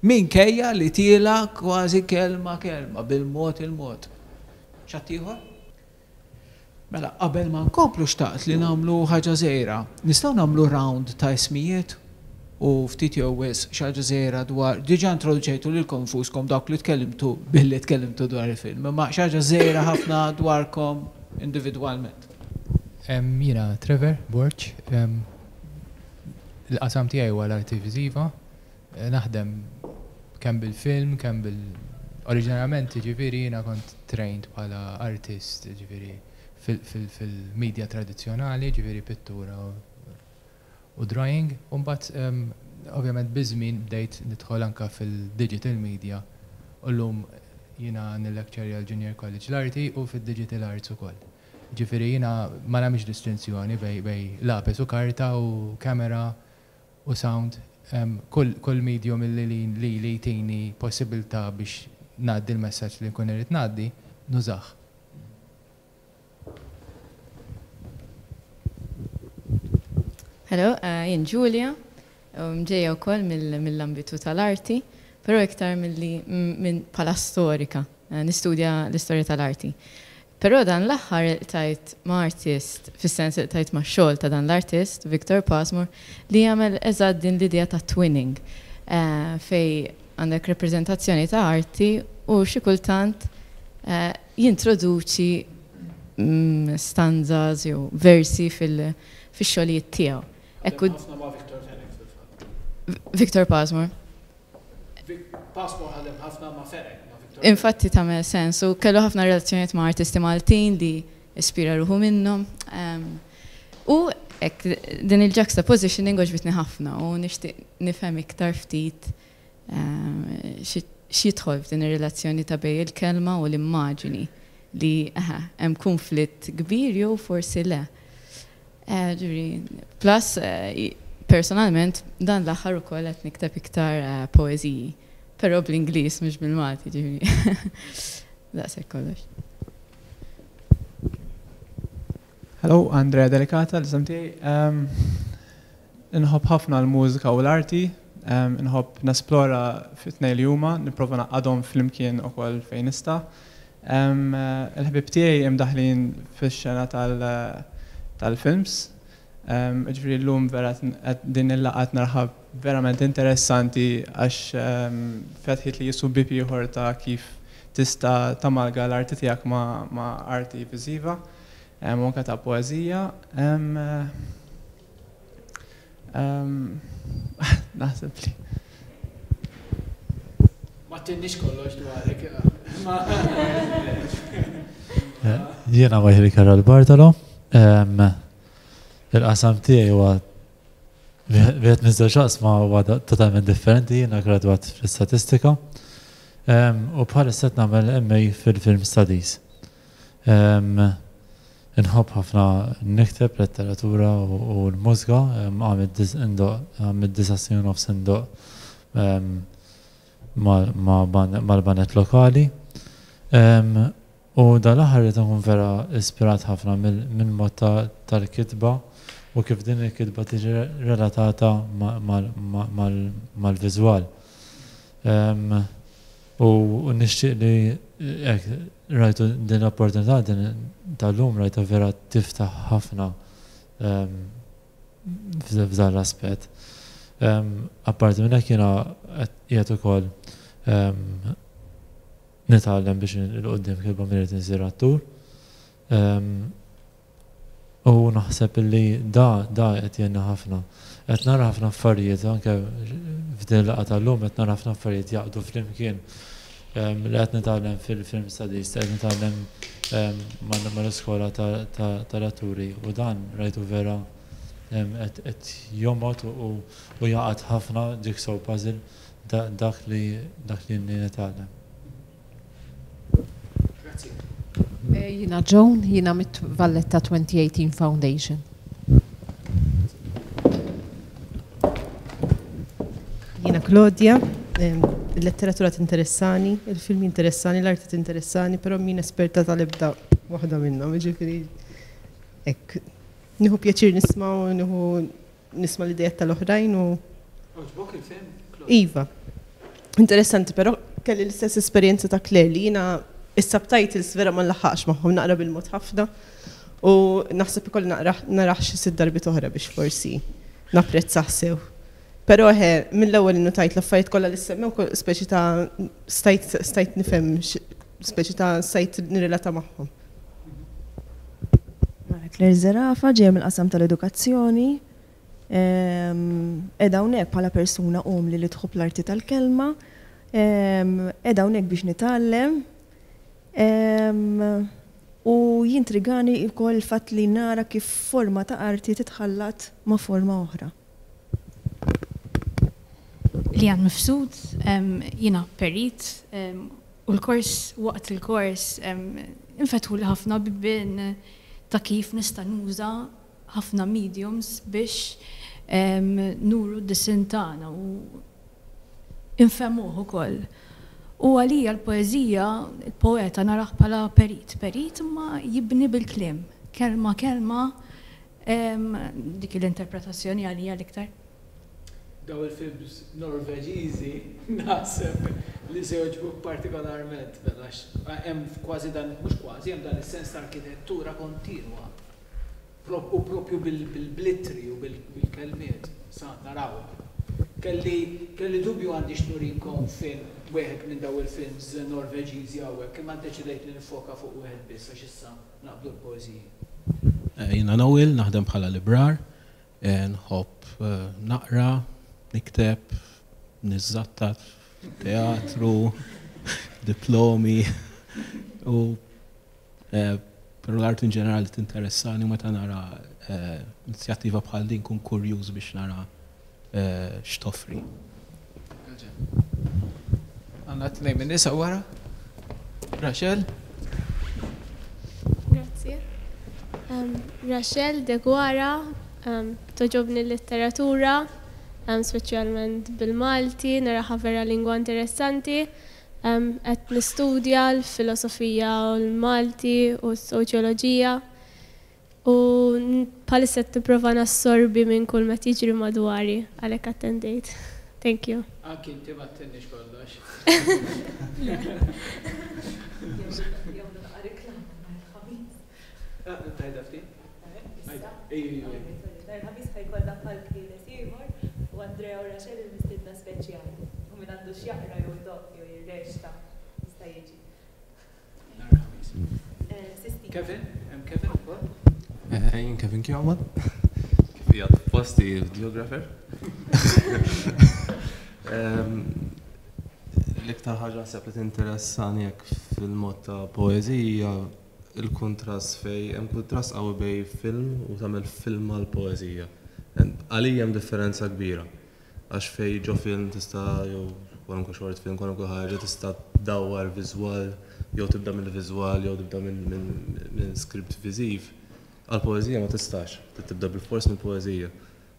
Minkejja li tiela' kważi kelma kelma, bil-mod il-mod. X'għadd ieħor? Mela, qabel ma nkomplu xtaqt li nagħmlu ħaġa żgħira. Nistgħu nagħmlu round ta' ismijiet u ftit jew wisq xi ħaġa żgħira dwar, diġà introduċejtu lilkom infuskom dawk li tkellimtu billi tkellimtu dwar il-film, imma xi ħaġa żgħira ħafna dwarkom individwalment. Jiena Trevor Borg, il-qasam tiegħi huwa l-arti viżiva. Naħdem kemm bil-film, kemm bil Oriġinarjament jiġifieri jiena kont trained bħala artist jiġifieri fil-media tradizzjonali, jiġifieri pittura u drawing, u mbagħad ovvjament biż-żmien bdejt nidħol anke fil-digital media u llum jiena nillecturja l-Junior College l-arti u fid-digital arts ukoll. Jiġifieri jiena ma nagħmilx distinzjoni bejn lapes u karta u camera u sound, kull medium li lili jtini possibilità biex ngħaddi l-messaġġ li nkun irrid ngħaddi, nużah. Hello, jien Julia, ġejja wkoll mill-ambitu tal-arti, però iktar milli minn bħala storika, nistudja l-istorja tal-arti. Però dan l-aħħar ilqtajt ma' artist, fis-sens ilqtajt max-xogħol ta' dan l-artist, Victor Pasmore, li jagħmel eżatt din l-idea ta' twinning, fejn għandek rappreżentazzjoni ta' arti u xi kultant jintroduċi stanzas jew versi fix-xogħlijiet tiegħu. Ħadem ħafna ma' Victor Fenech fil-fatt. Victor Pasmore. Pasmore ħadem ħafna ma' Fenech, ma' Victor Fenech. Infatti tagħmel sens u kellu ħafna relazzjonijiet ma' artisti Maltin li ispira ruħu minnhom. U hekk din il-juxtapositioning għoġbitni ħafna u nixtieq nifhem iktar ftit x'jidħol f'din ir-relazzjoni ta' bejn il-kelma u l-immaġini li hemm kunflitt kbir jew forsi le. Ġifieri, plus personalment dan l-aħħar ukoll qed nikteb iktar poeżiji, però bl-Ingliż mhux bil-Malti, ġifieri. Daqshekk kollox. Hello, Andrea Delicata, l-isem tiegħi. Inħobb ħafna l-mużika u l-arti, inħobb nesplora fit-tnejn li huma, nipprova ngħaqqadhom flimkien ukoll fejn nista'. Il-ħbieb tiegħi imdaħħlin fix-xena tal-films. Jiġifieri llum vera din il-laqgħa qed naraha verament interessanti għax fetħitli qisu bieb ieħor ta' kif tista' tamalga l-arti tiegħek ma' arti viżiva u anke ta' poeżija. Naħseb li. Ma tinniex kollox dwarek. Jiena Michael Karol Bartolo. Il-qasam tiegħi huwa wieħed miż-żewġ oqsma huwa totalment differenti, jiena gradwat fl-istatistika. U bħalissa qed nagħmel MA fil-Film Studies. Inħobb ħafna nikteb letteratura u l-mużika, għamilt indoqq, għamilt disa' snin u nofs indoqq mal-baned lokali. U dal-aħħar rrid inkun vera ispirat ħafna mill-mod tal-kitba u kif din il-kitba tiġi relatata mal-viżwal. U nixtieq li hekk rajtu din l-opportunità din tal-lum rajtha vera tiftaħ ħafna f'dan l-aspett. Apparti minn hekk jiena qiegħed ukoll nitgħallem biex 'il quddiem kif irrid insir attur. U naħseb illi da da qed jgħinna ħafna. Qed nara ħafna affarijiet anke f'din il-laqgħa tal-lum qed nara ħafna affarijiet jaqdu flimkien li qed nitgħallem fil-film studies, li qed nitgħallem mal-iskola tal-atturi u dan rajtu vera qed jomgħod u jgħaqqad ħafna jigsaw puzzle dak li dak li nitgħallem. Grazzi. Jiena Joan, jiena mit-Valletta 2018 Foundation. Jiena Claudia, il-letteratura tinteressani, il-film jinteressani, l-arti tinteressani, però min esperta tal-ebda waħda minnhom, jiġifieri hekk. Nieħu pjaċir nisma' u nieħu nisma' l-idejat tal-oħrajn u. Għoġbok il-film? Iva. Interessanti, però kelli l-istess esperjenza ta' Claire li jiena is-subtitles vera ma nlaħħaqx magħhom naqra bil-mod ħafna u naħseb ikolli naqra narah xi sitt darbiet oħra biex forsi napprezzah sew. Però eħe, mill-ewwel innutajt l-affarijiet kollha li ssemmew speċi ta' stajt stajt nifhem speċi ta' stajt nirrelata magħhom. Mela Claire Zerafa, ġejja mill-qasam tal-edukazzjoni. Qiegħda hawnhekk bħala persuna umli li tħobb l-arti tal-kelma. Qiegħda hawnhekk biex nitgħallem. U jintrigani wkoll il-fatt li nara kif forma ta' arti titħallat ma' forma oħra. Lian Mifsud, jiena perit u l-kors waqt il-kors infetħuli ħafna bibien ta' kif nista' nuża ħafna mediums biex nuru d-disinn tagħna u infehmuh ukoll. U għalija l-poeżija, il-poeta narah bħala perit, perit imma jibni bil-kliem, kelma kelma, dik hi l-interpretazzjoni għalija l-iktar. Daw il-films Norveġiżi naħseb li se jogħġbuk partikolarment mela għax hemm kważi dan, mhux kważi, hemm dan is-sens ta' arkitettura kontinwa. U propju bil-blittri u bil-kelmiet. Sa naraw. Kelli kelli dubju għandix nurikom film, wieħed minn dawn il-films Norveġiżi hawnhekk, imma ddeċidejt li niffoka fuq wieħed biss għax issa naqbdu l-poeżiji. Jiena Noel, naħdem bħala librar. Nħobb naqra, nikteb, niżżattat, teatru, diplomi u Però l-arti in ġenerali tinteressani u meta nara inizjattiva bħal din nkun kurjuż biex nara x'toffri. Għandna tnejn min-nisa wara. Rachel. Grazzi. Rachel Deguara, toġobni l-letteratura, speċjalment bil-Malti, naraha vera lingwa interessanti. Qed nistudja l-filosofija u l-Malti u s-soċjoloġija u bħalissa qed nipprova nassorbi minn kull ma qed jiġri madwari għalhekk attendejt. Thank you. Anki inti ma ttinniex kollox. Tgħidha ftit? Nhar il-Ħamis ħa jkollna palk ħieles ieħor u Andrea u Rachel il-mistiedna speċjali. U min għandu x'jaqra jew idoqq jew jirreċta jista' jiġi. Nhar il-Ħamis. Sistina. Kevin, hemm Kevin ukoll? Jien Kevin Kjoman. Kif qiegħed f'posti videographer. L-iktar ħaġa naħseb li tinteressani hekk fil-mod ta' poeżija il-kuntrast fejn hemm kuntrast qawwi bejn film u tagħmel film għall-poeżija. Għalija hemm differenza kbira. Għax fejn ġo film tista' jew kwalunkwe short film, kwalunkwe ħaġa tista' tdawwar viżwal jew tibda mill-viżwal jew tibda minn script viżiv. Għall-poeżija ma tistax, trid tibda bilfors mill-poeżija.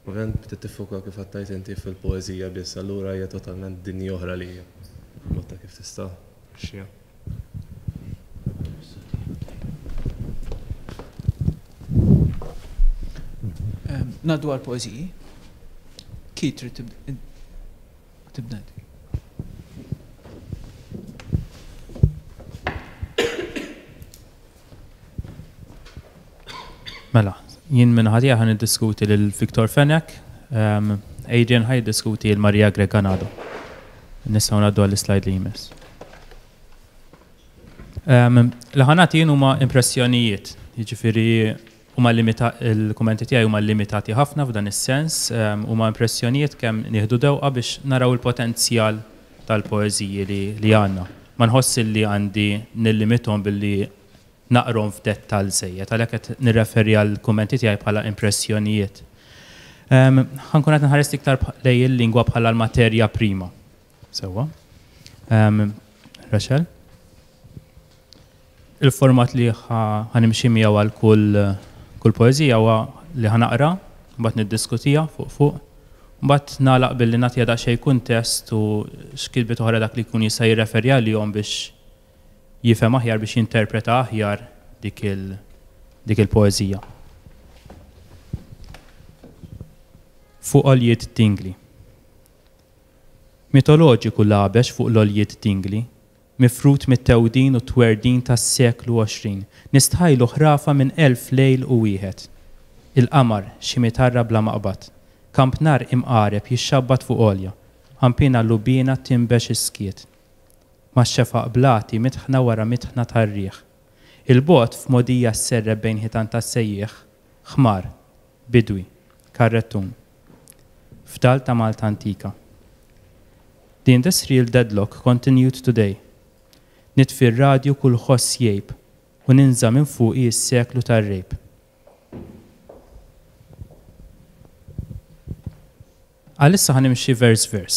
Ovvjament trid tiffoka kif qed tgħid inti fil-poeżija biss, allura hija totalment dinja oħra għalija. Mod ta' kif tista' tmexxiha. Ngħaddu għall-poeżiji. Keith trid tibda inti. Mela, jien minn ħadd ħa niddiskuti lil Victor Fenech, Adrian ħa jiddiskuti lil Maria Grech Ganado. Nistgħu ngħaddu għall-slide li jmiss. Li ħa nagħti jien huma impressjonijiet, jiġifieri huma limita il-kummenti tiegħi huma limitati ħafna f'dan is-sens, huma impressjonijiet kemm nieħdu dewqa biex naraw il-potenzjal tal-poeżiji li, li għandna. Ma nħoss li għandi nillimithom billi naqrahom f'dettall żejjed, għalhekk qed nirreferi għall-kummenti tiegħi bħala impressjonijiet. Ħa nkun qed nħares iktar lejn il-lingwa bħala l-materja prima. Sewwa. Rachel? Il-format li ħa nimxi miegħu għal kull kull poeżija huwa li ħa naqra, mbagħad niddiskutiha fuq fuq, mbagħad nagħlaq billi nagħtiha daqsxejn kuntest u x'kitbiet oħra dak li jkun jista' jirreferi għalihom biex jifhem aħjar biex jinterpreta aħjar dik il dik il-poeżija. Fuq għoljiet Dingli. Mitoloġiku l-għabex fuq l-għoljiet dingli, mifrud mit-thewdin u t-twerdin tas-seklu 20, nistħajlu ħrafa minn elf lejl u wieħed. Il-qamar, xi mitarra bla maqbad. Kampnar imqareb jixxabbat fuq għolja, qanpiena lubiena tinbex is-skiet. Max-xefaq blati mitħna wara mitħna tar-riħ. 'Il bogħod f'mogħdija sserrep bejn ħitan tas-sejjieħ, ħmar, bidwi, karrettun. Fdal ta' Malta antika. The industrial deadlock continued today. Nitfi r-radju kull ħoss jgħib u ninża' minn fuqi s-seklu tar-rejb. Għalissa ħa nimxi vers vers.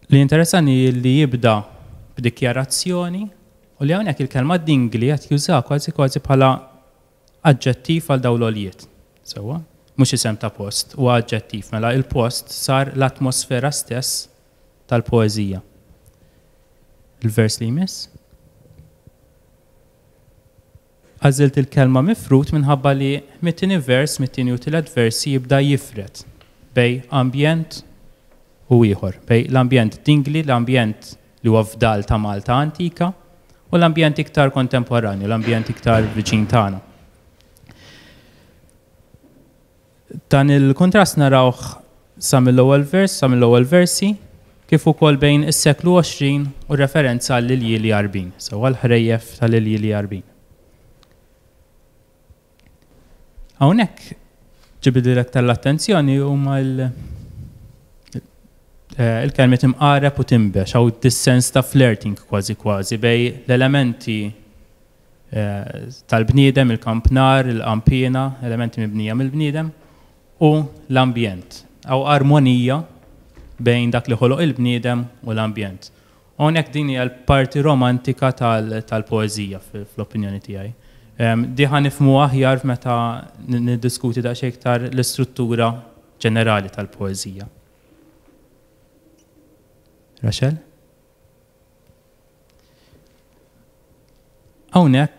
Li jinteressani li jibda b'dikjarazzjoni u li hawnhekk il-kelma dingli qed jużaha kważi kważi bħala aġġettiv għal dawn l-għoljiet. Sewwa? Mhux isem ta' post, huwa aġġettiv. Mela il-post sar l-atmosfera stess tal-poeżija. Il-vers li jmiss. Għażilt il-kelma mifrud minħabba li mit-tieni vers, mit-tieni u tielet versi jibda jifred bejn ambjent u ieħor, bejn l-ambjent dingli, l-ambjent li huwa fdal ta' Malta antika, u l-ambjent iktar kontemporanju, l-ambjent iktar viċin tagħna. Dan il-kuntrast narawh sa mill-ewwel vers, sa mill-ewwel versi, kif ukoll bejn is-seklu 20 u referenza għall-iljieli Għarbin, sewwa l-ħrejjef tal-iljieli Għarbin. Hawnhekk ġibidli aktar l-attenzjoni huma il-kelmiet imqareb u tinbex, hawn dis-sens ta' flirting kważi kważi bejn l-elementi tal-bniedem, il-kampnar, il-qanpiena, elementi mibnija mill-bniedem, u l-ambjent. Hawn armonija bejn dak li ħoloq il-bniedem u l-ambjent. U hawnhekk din hija l-parti romantika tal-poeżija fl-opinjoni tiegħi. Di ħa nifhmu aħjar meta niddiskuti daqsxejn iktar l-istruttura ġenerali tal-poeżija. Rachel? Hawnhekk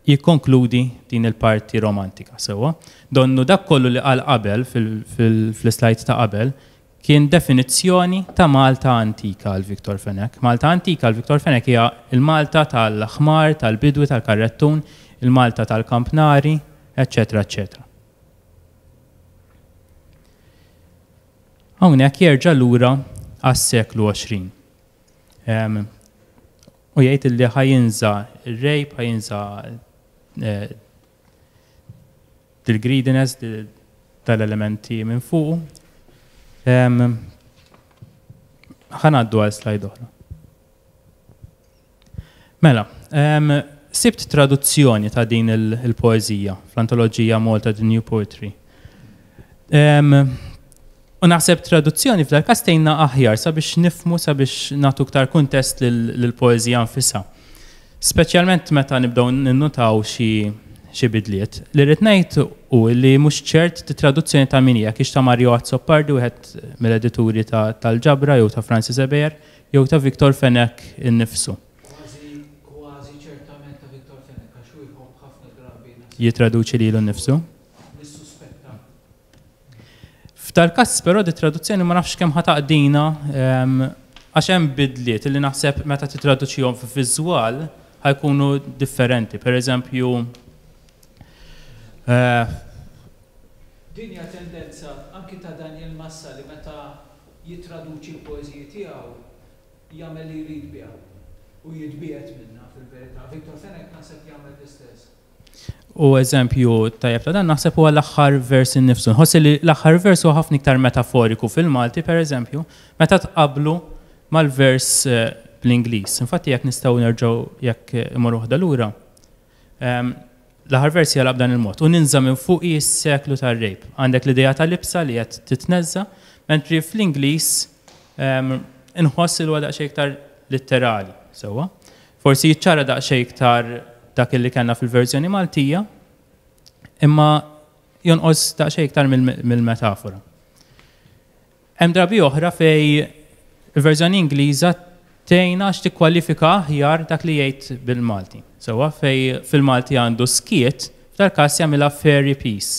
jikkonkludi din il-parti romantika sewwa. Donnu dak kollu li qal qabel fl-slide ta' qabel kien definizzjoni ta' Malta antika għal Victor Fenech. Malta antika għal Victor Fenech hija il-Malta tal-ħmar, tal-bidwi, tal-karrettun, il-Malta tal-kampnari, eċċetera, eċċetera. Hawnhekk jerġa' lura għas-seklu 20. U jgħid li ħa jinża' r-rape, ħa jinża' dil-greediness, tal-elementi minn fuqu. Ħa ngħaddu għal slide oħra. Mela, sibt traduzzjoni ta' din il-poeżija fl-antoloġija Malta The New Poetry. U naħseb traduzzjoni f'dal każ tgħinna aħjar sabiex nifhmu sabiex nagħtu iktar kuntest lill-poeżija nfisha. Speċjalment meta nibdew ninnutaw xi bidliet. Li rrid ngħid hu li mhux ċert traduzzjoni ta' min hija kiex ta' Mario Azzopardi wieħed mill-edituri tal-ġabra jew ta' Francis Ebejer jew ta' Victor Fenech innifsu. Kważi kważi ċertament ta' Victor Fenech għax hu jħobb ħafna drabi Jitraduċi lilu nnifsu. Nissuspetta. F'dal-każ però di traduzzjoni ma nafx kemm ħa taqdina għax hemm bidliet li naħseb meta titraduċihom f'viżwal ħa jkunu differenti. Per eżempju, Din hija tendenza anki ta' Daniel Massa li meta jittraduċi l-poeżiji tiegħu jagħmel li jrid biha u jitbiegħed minnha fil-verità. Victor Fenech naħseb jagħmel l-istess. U eżempju tajjeb ta' dan naħseb huwa l-aħħar vers innifsu. Nħoss li l-aħħar vers huwa ħafna iktar metaforiku fil-Malti, per eżempju, meta tqablu mal-vers bl-Ingliż. Infatti jekk nistgħu nerġgħu jekk imorru waħda lura, l-aħħar vers jalab dan il-mod. U ninża' minn fuqi s-seklu tar-rape. Għandek l-idea ta' libsa li qed titneżża, mentri fl-Ingliż inħoss li huwa daqsxejn iktar litterali, sewwa. Forsi jiċċara daqsxejn iktar dak li kellna fil-verżjoni Maltija, imma jonqos daqsxejn iktar mill-metafora. Hemm drabi oħra fej il-verżjoni Ingliża tgħinna għax tikkwalifika aħjar dak li jgħid bil-Malti. Sewwa fej fil-Malti għandu skiet, f'dal każ jagħmilha fairy peace.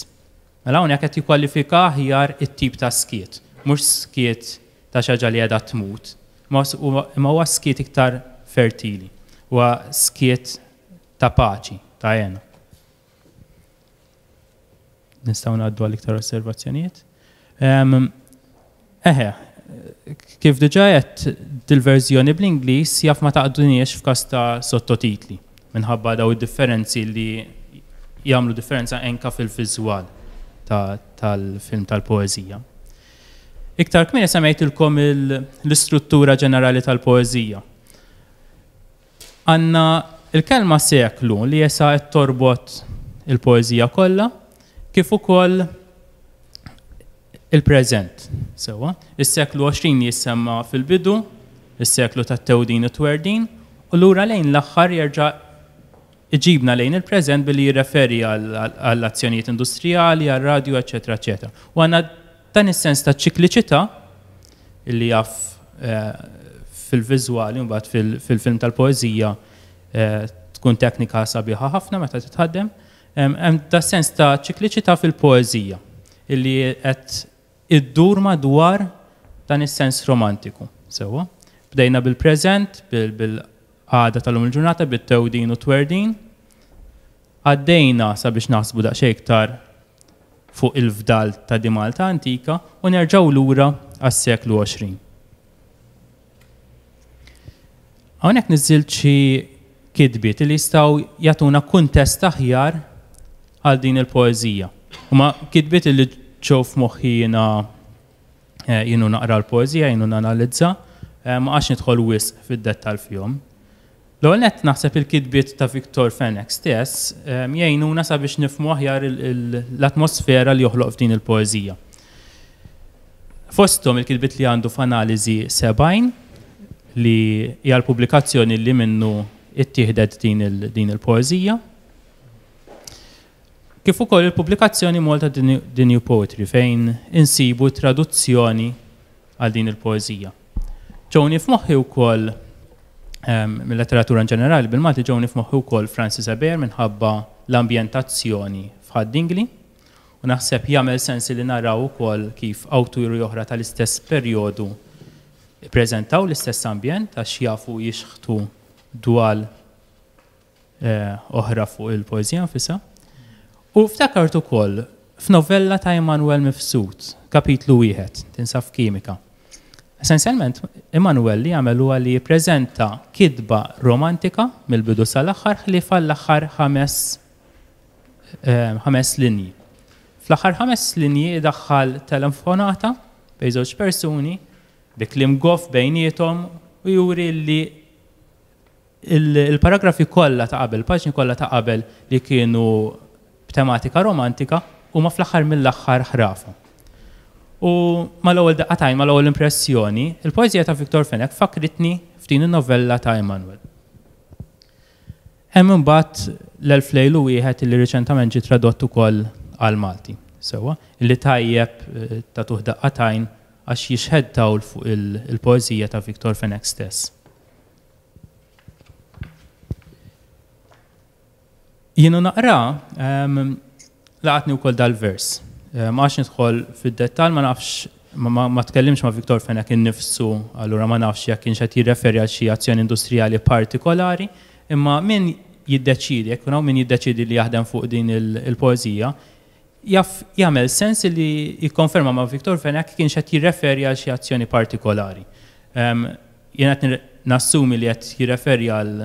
Mela hawnhekk qed jikkwalifika aħjar it-tip ta' skiet. Mhux skiet ta' xi ħaġa li qiegħda tmut, imma huwa skiet iktar fertili. Huwa skiet ta' paċi, ta' hena. Nistgħu ngħaddu għal iktar osservazzjonijiet. Eħe, kif diġà għedt dil-verżjoni bl-Ingliż jaf ma taqduniex f'każ ta' sottotitli minħabba daw id-differenzi li jagħmlu differenza enka fil-viżwal tal-film tal-poeżija. Iktar kmieni semmejtilkom l-istruttura ġenerali tal-poeżija. Għandna l-kelma seklu li issa qed torbot il-poeżija kollha, kif ukoll il-preżent. Sewwa, is-seklu 20 jissemma fil-bidu, is-seklu tat-tewdin u t-twerdin, u lura lejn l-aħħar jerġa' iġibna lejn il-preżent billi jirreferi għall-azzjonijiet industrijali, għar-radju, eċċetera, eċċetera. U għandna Dan is-sens ta' ċikliċità, li jaf fil-viżwali mbagħad fil-film tal-poeżija tkun teknika sabiħa ħafna meta titħaddem, hemm da sens ta' ċikliċità fil-poeżija illi qed iddur madwar dan is-sens romantiku. Sewwa. Bdejna bil-preżent, bil-qagħda tal-lum il-ġurnata, bit-tewdin u t-twerdin. Għaddejna sabiex naħsbu daqsxejn iktar fuq il-fdal ta' di Malta antika u nerġgħu lura għas-seklu 20. Hawnhekk niżżilt xi kitbiet li jistgħu jagħtuna kuntest aħjar għal din il-poeżija. Huma kitbiet li ġew f'moħħi jiena eh, jienu naqra l-poeżija, jienu nanalizza, eh, ma għax nidħol wisq fid-dettall fihom. L-ewwel nett naħseb il-kitbiet ta' Victor Fenech stess jgħinuna sabiex nifhmu aħjar l-atmosfera li joħloq f'din il-poeżija. Fosthom il-kitbiet li għandu f'Analiżi 70 li hija l-pubblikazzjoni li minnu ittieħdet din il-poeżija. Kif ukoll il-pubblikazzjoni Malta The New Poetry fejn insibu traduzzjoni għal din il-poeżija. Ġewni f'moħħi wkoll mill-letteratura in ġenerali bil-Malti ġewni f'moħħi wkoll Francis Ebejer minħabba l-ambjentazzjoni f'Ħad-Dingli u naħseb jagħmel sens li naraw ukoll kif awturi oħra tal-istess perjodu ppreżentaw l-istess ambjent għax jafu jixħtu dwal oħra fuq il-poeżija nfisha. U ftakart ukoll f'novella ta' Immanuel Mifsud, kapitlu wieħed, tinsab f'Kimika. Essenzjalment, Immanuel li jagħmel huwa li jippreżenta kitba romantika mill-bidu sal-aħħar ħlief għall-aħħar ħames ħames linji. Fl-aħħar ħames linji idaħħal telefonata bejn żewġ persuni bi kliem goff bejniethom u juri li Il-paragrafi kollha ta' qabel, il-paġni kollha ta' qabel li kienu b'tematika romantika huma fl-aħħar mill-aħħar ħrafa. U mal-ewwel daqqa t'għajn, mal-ewwel impressjoni, il-poeżija ta' Victor Fenech fakkritni f'din in-novella ta' Immanuel. Hemm imbagħad L-Elf Lejl u Wieħed li riċentament ġie tradott ukoll għall-Malti. Sewwa, li tajjeb tagħtuh daqqa t'għajn għax jixħet dawl fuq il-poeżija ta' Victor Fenech stess. Jien u naqra, laqatni wkoll dal-vers. Ma għax nidħol fid-dettall, ma nafx, ma tkellimx ma' Victor Fenech innifsu, allura ma nafx jekk kienx qed jirreferi għal xi azzjoni industrijali partikolari, imma min jiddeċiedi, jekk hawn min jiddeċiedi li jaħdem fuq din il-poeżija, jaf jagħmel sens li jikkonferma ma' Victor Fenech kienx qed jirreferi għal xi azzjoni partikolari. Jien qed nassumi li qed jirreferi għal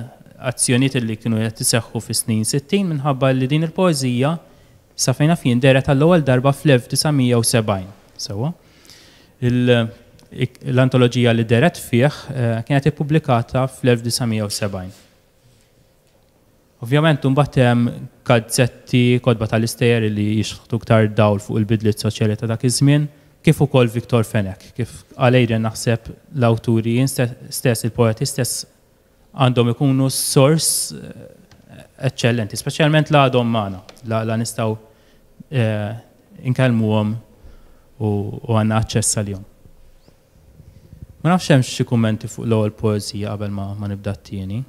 azzjonijiet li kienu qed iseħħu fis-snin 60 minħabba li din il-poeżija sa fejn naf jien dehret għall-ewwel darba fl-1970. Sewwa. L-antoloġija li dehret fih eh, kienet ippubblikata fl-1970. Ovvjament imbagħad hemm gazzetti, kotba tal-istejjer li jixħtu iktar dawl fuq il-bidliet soċjali ta' dak iż-żmien, kif ukoll Victor Fenech. Kif qal Adrian naħseb l-awturi stess, il-poeti stess għandhom ikunu sors eċċellenti, speċjalment la għadhom magħna, la nistgħu nkellmuhom u għandna aċċess għalihom. Ma nafx hemmx xi kummenti fuq l-ewwel poeżija qabel ma ma nibda t-tieni.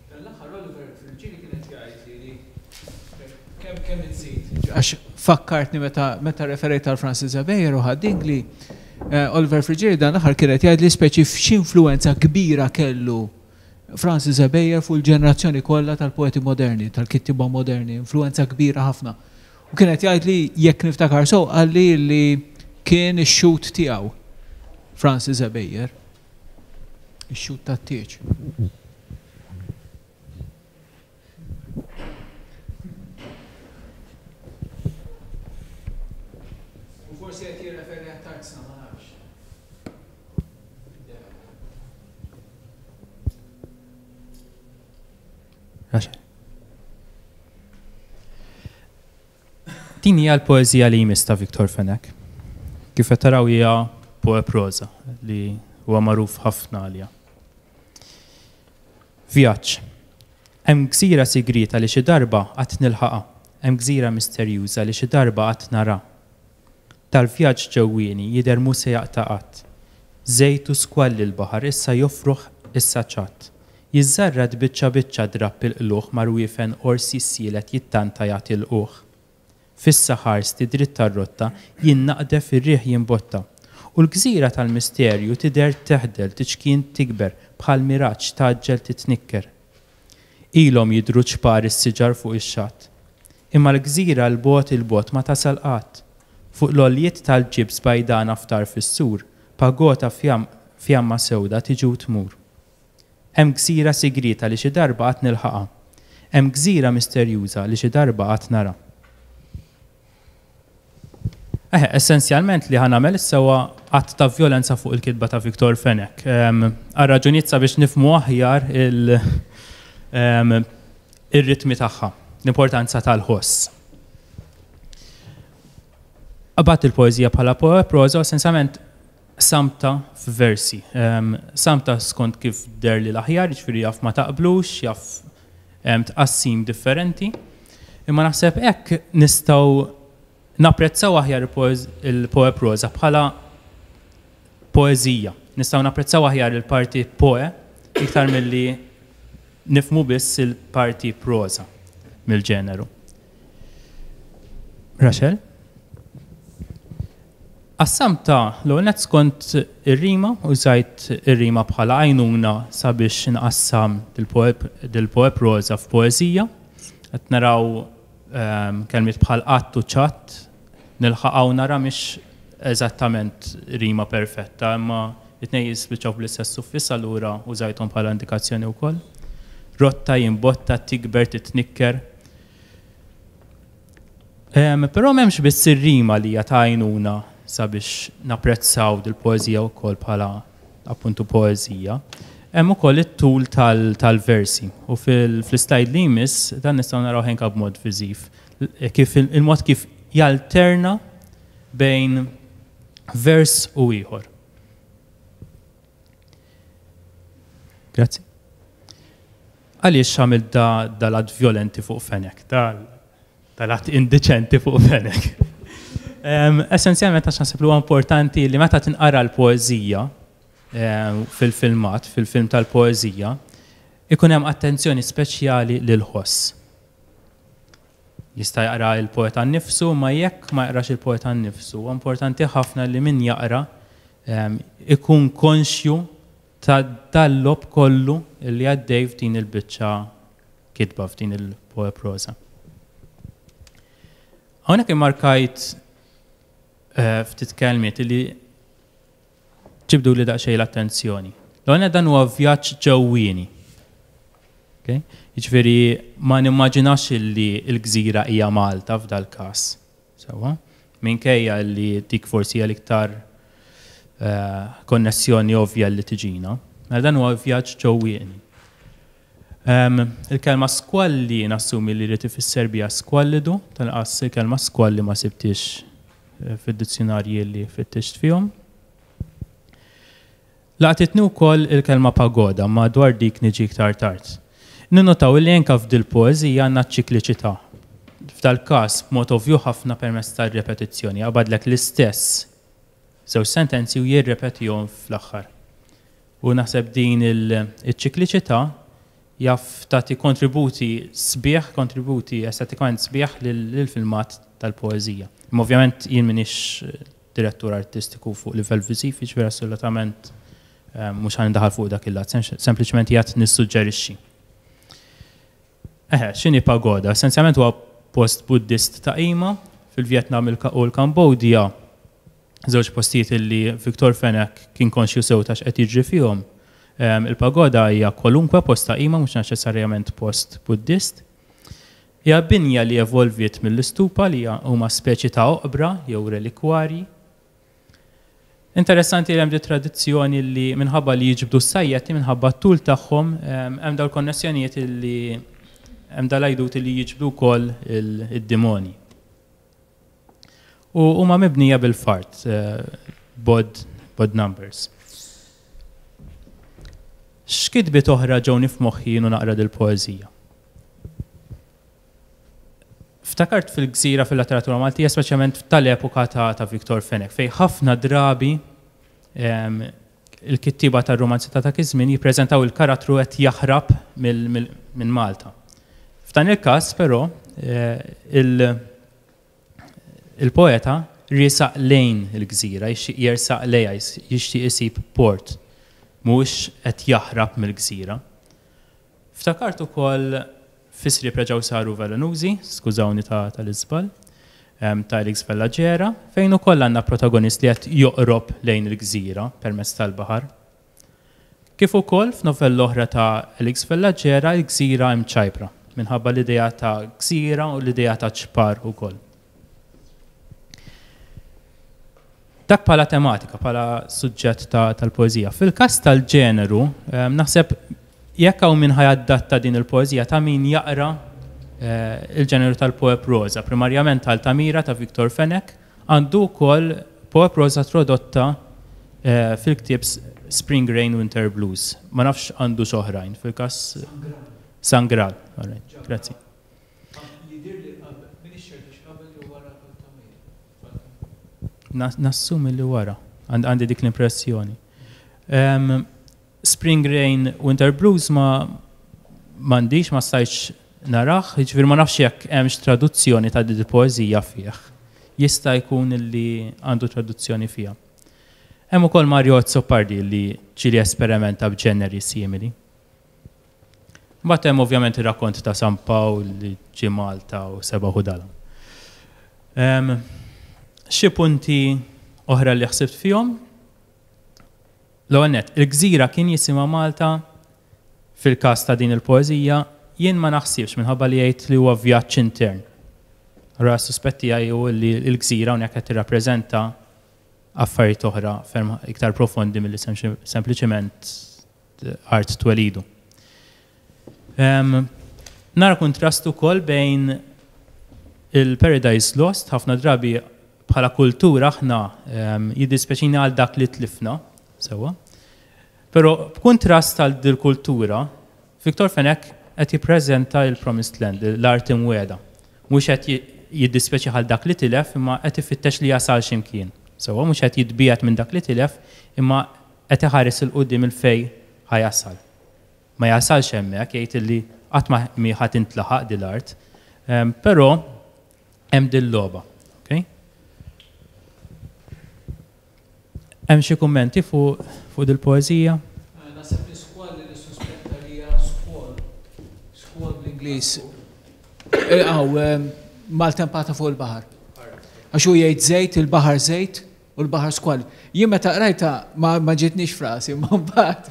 Dan l-aħħar Oliver Friggieri kien qed jgħid li kemm Kemm inżid, għax fakkartni meta meta referejt għal Francis Ebejer u Ħad-Dingli, Oliver Friggieri dan l-aħħar kien qed jgħidli speċi x'influwenza kbira kellu Francis Ebejer fuq il-ġenerazzjoni kollha tal-poeti moderni, tal-kittieba moderni, influwenza kbira ħafna. U kien qed jgħidli jekk niftakar sew qalli li kien ix-xhud tiegħu Francis Ebejer. Ix-xhud tat-tieġ. U forsi qed jirreferi għat-tarzna, ma nafx. Din hija l-poeżija li jmiss ta' Victor Fenech. Kif qed taraw hija poeproża li huwa magħruf ħafna għaliha. Vjaġġ. Hemm gżira sigrieta li xi darba għad nilħaqha. Hemm gżira misterjuża li xi darba għad nara. Dal-vjaġġ ġewwieni jidher mhu se jaqta' qatt. Żejt u skwalli l-baħar issa jofroħ issa ċatt. Jiżżarrad biċċa biċċa drapp il-qlugħ ma' rwiefen għors jissielet jittanta jagħti lqugħ. Fissa ħarsti dritt għar-rotta, jien naqdef ir-riħ jimbotta. U l-gżira tal-misterju tidher teħdel tiċkien tikber bħal miraġġ tgħaġġel titnikker. Ilhom jidhru ċpar is-siġar fuq ix-xatt. Imma l-gżira 'l bogħod 'il bogħod ma tasal qatt. Fuq l-għoljiet tal-ġibs bajdana f'tarf is-sur, pagota fjamma sewda tiġi u tmur. Hemm gżira sigrieta li xi darba għad nilħaqha. Hemm gżira misterjuża li xi darba għad nara. Eħe, essenzjalment li ħa nagħmel issa huwa att ta' vjolenza fuq il-kitba ta' Victor Fenech. Għal raġunijiet sabiex nifhmu aħjar ir-ritmi tagħha, l-importanza tal-ħoss. Qabadt il-poeżija bħala proża u essenzjalment Qsamtha f'versi. Qsamtha skont kif deherli l-aħjar, jiġifieri jaf ma taqblux, jaf hemm tqassim differenti. Imma naħseb hekk nistgħu napprezzaw aħjar il-poeproża bħala poeżija. Nistgħu napprezzaw aħjar il-parti poe iktar milli nifhmu biss il-parti proża mill-ġeneru. Rachel? Qassamtha l-ewwel nett skont ir-rima, użajt ir-rima bħala għajnuna sabiex inqassam dil-poeproża f'poeżija. Qed naraw kelmiet bħal qatt u ċatt, nilħaqha u nara mhix eżattament rima perfetta, imma it-tnejn jispiċċaw bl-istess suffiss allura użajthom bħala indikazzjoni wkoll. Rotta, jimbotta, tikber, titnikker. Però m'hemmx biss ir-rima li hija ta' għajnuna sabiex napprezzaw dil-poeżija wkoll bħala appuntu poeżija. Hemm ukoll it-tul tal-versi u fl-islajd li jmiss dan nistgħu narawh anke b'mod viżiv kif il-mod kif jalterna bejn vers u ieħor. Grazzi. Għaliex għamilt dal-att vjolenti fuq Fenech, dal-att indiċenti fuq Fenech? Essenzjalment għax naħseb li huwa importanti li meta tinqara l-poeżija fil-filmat, fil-film tal-poeżija, ikun hemm attenzjoni speċjali lill-ħoss. Jista' jaqra l-poeta nnifsu, imma jekk ma jaqrax il-poeta nnifsu, huwa importanti ħafna li min jaqra ikun konxju ta' dal-logħob kollu li għaddej f'din il-biċċa kitba, f'din il-poeproża. Hawnhekk immarkajt ftit kelmiet li ġibduli daqsxejn l-attenzjoni. L-ewwel nett dan huwa vjaġġ ġewwieni. Okay? Jiġifieri ma nimmaġinax li l-gżira hija Malta f'dal-każ. Sewwa? Minkejja li dik forsi hija l-iktar konnessjoni ovvja li tiġina. Mela dan huwa vjaġġ ġewwieni. Il-kelma skwalli nassumi li jrid ifisser biha skwallidu, tal-inqas il-kelma skwalli ma sibtiex fid-dizzjunarji li fittixt fihom. Laqtitni wkoll il-kelma pagoda, imma dwar dik niġi iktar tard. Ninnotaw illi anke f'dil-poeżija għandna ċ-ċikliċità. F'dal-każ b'mod ovvju ħafna permezz tar-repetizzjoni, jaqbadlek l-istess żewġ sentenzi u jirrepetihom fl-aħħar. U naħseb din iċ-ċikliċità Jaf tagħti kontributi sbieħ, kontributi estetikament sbieħ lill-filmat tal-poeżija. Imma ovvjament jien m'iniex direttur artistiku fuq livell viżiv, jiġifieri assolutament mhux ħa nindaħal fuq dak il-lat, sempliċement qiegħed nissuġġerixxi. Eħe, x'inhi pagoda? Essenzjalment huwa post Buddist ta' qima fil-Vjetnam u l-Kambodja, żewġ postijiet illi Victor Fenech kien konxju sew ta' x'qed jiġri fihom. Il-pagoda hija kwalunkwe post ta' qima, mhux neċessarjament post Buddist. Hija binja li evolviet mill-istupa li huma speċi ta' oqbra jew relikwarji. Interessanti li hemm di tradizzjoni li minħabba li jiġbdu s-sajjetti minħabba t-tul tagħhom hemm dawn il-konnessjonijiet li hemm dal-għajdut li jiġbdu wkoll id-dimoni. U huma mibnija bil-fart, b'odd b'odd numbers. X'kitbiet oħra ġewni f'moħħi jien u naqra dil-poeżija? Ftakart fil-gżira fil-letteratura Maltija, speċjalment tal-epoka ta', ta Victor Fenech, fejn ħafna drabi il-kittieba tar-rumanzi ta' dak iż-żmien jippreżentaw il-karattru qed jaħrab minn Malta. F'dan il-każ, però, eh, il-poeta riesaq lejn il-gżira, jixtieq jersaq lejha, jixtieq isib port, mhuwiex qed jaħrab mill-gżira. Ftakart ukoll fi Sriep Reġgħu Saru Velenużi, skużawni ta' tal-iżball, ta' Alex Vella Gera, fejn ukoll għandna protagonist li qed joqrob lejn il-gżira permezz tal-baħar. Kif ukoll f'novella oħra ta' Alex Vella Gera, Il-Gżira Imċajpra, minħabba l-idea ta' gżira u l-idea ta' ċpar ukoll. Dak bħala tematika, bħala suġġett tal-poeżija. Fil-każ tal-ġeneru, naħseb jekk hawn min ħa jadatta din il-poeżija ta' min jaqra il-ġeneru tal-poeproża, primarjament Altamira ta' Victor Fenech, għandu wkoll poeproża tradotta fil-ktieb Spring Rain Winter Blues. Ma nafx għandux oħrajn fil-każ. San Graal, all right, grazzi. Jidhirli qabel, m'iniex ċert hux qabel jew wara Altamira. Nassumi li wara, għandi dik l-impressjoni. Spring Rain Winter Blues ma m'għandix, ma stajtx narah, jiġifieri ma nafx jekk hemmx traduzzjoni ta' din il-poeżija fih. Jista' jkun li għandu traduzzjoni fiha. Hemm ukoll Mario Azzopardi li ġieli esperimenta b'ġeneri simili. Mbagħad hemm ovvjament ir-rakkont ta' San Pawl li ġie Malta u sebaħ u dalam. Xi punti oħra li ħsibt fihom? L-ewwel nett, il-gżira kien jisimha Malta fil-każ ta' din il-poeżija, jien ma naħsibx minħabba li jgħid li huwa vjaġġ intern. Allura s-suspett tiegħi hu li l-gżira hawnhekk qed tirrappreżenta affarijiet oħra ferm iktar profondi milli sempliċement art twelidu. Nara kuntrast ukoll bejn il-Paradise Lost, ħafna drabi bħala kultura aħna jiddispjaċina għal dak li tlifna, sewwa. Però b'kuntrast għal dil-kultura, Victor Fenech qed jippreżenta il-Promised Land, l-art imwiegħda. Mhux qed jiddispjaċih għal dak li tilef, imma qed ifittex li jasal xi mkien. Sewwa, mhux qed jitbiegħed minn dak li tilef, imma qed iħares 'il quddiem 'il fejn ħa jasal. Ma jasalx hemmhekk, jgħid illi qatt ma mhi ħa tintlaħaq din l-art. Però hemm dil-logħba. Okay? Hemm xi kummenti fuq fuq dil-poeżija? Naħseb li skwal li nissuspetta li hija squall. Squall bl-Ingliż. Hawn, maltempata fuq il-baħar. Għax hu jgħid żejt, il-baħar żejt, U l-baħar skwal. Jien meta qrajtha ma ma ġietnix f'rasi, imma mbagħad.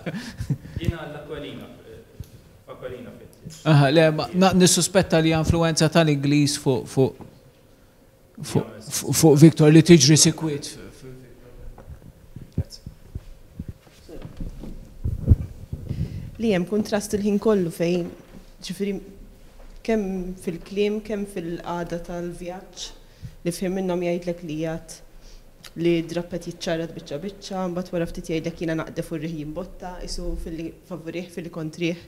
Jiena għall-Aquilina, f'Aquilina fit. Aha, le, ma nissuspetta li hija influwenza tal-Ingliż fuq fuq fuq fuq Victor li tiġri sikwit. Li hemm kuntrast il-ħin kollu fejn, ġifieri kemm fil-kliem, kemm fil-qagħda tal-vjaġġ, li f'ħin minnhom jgħidlek li qiegħed li d-drapp qed jiċċarrat biċċa biċċa, mbagħad wara ftit jgħidlek jiena naqdef u r-riħ jimbotta, qisu filli favurih filli kontrih.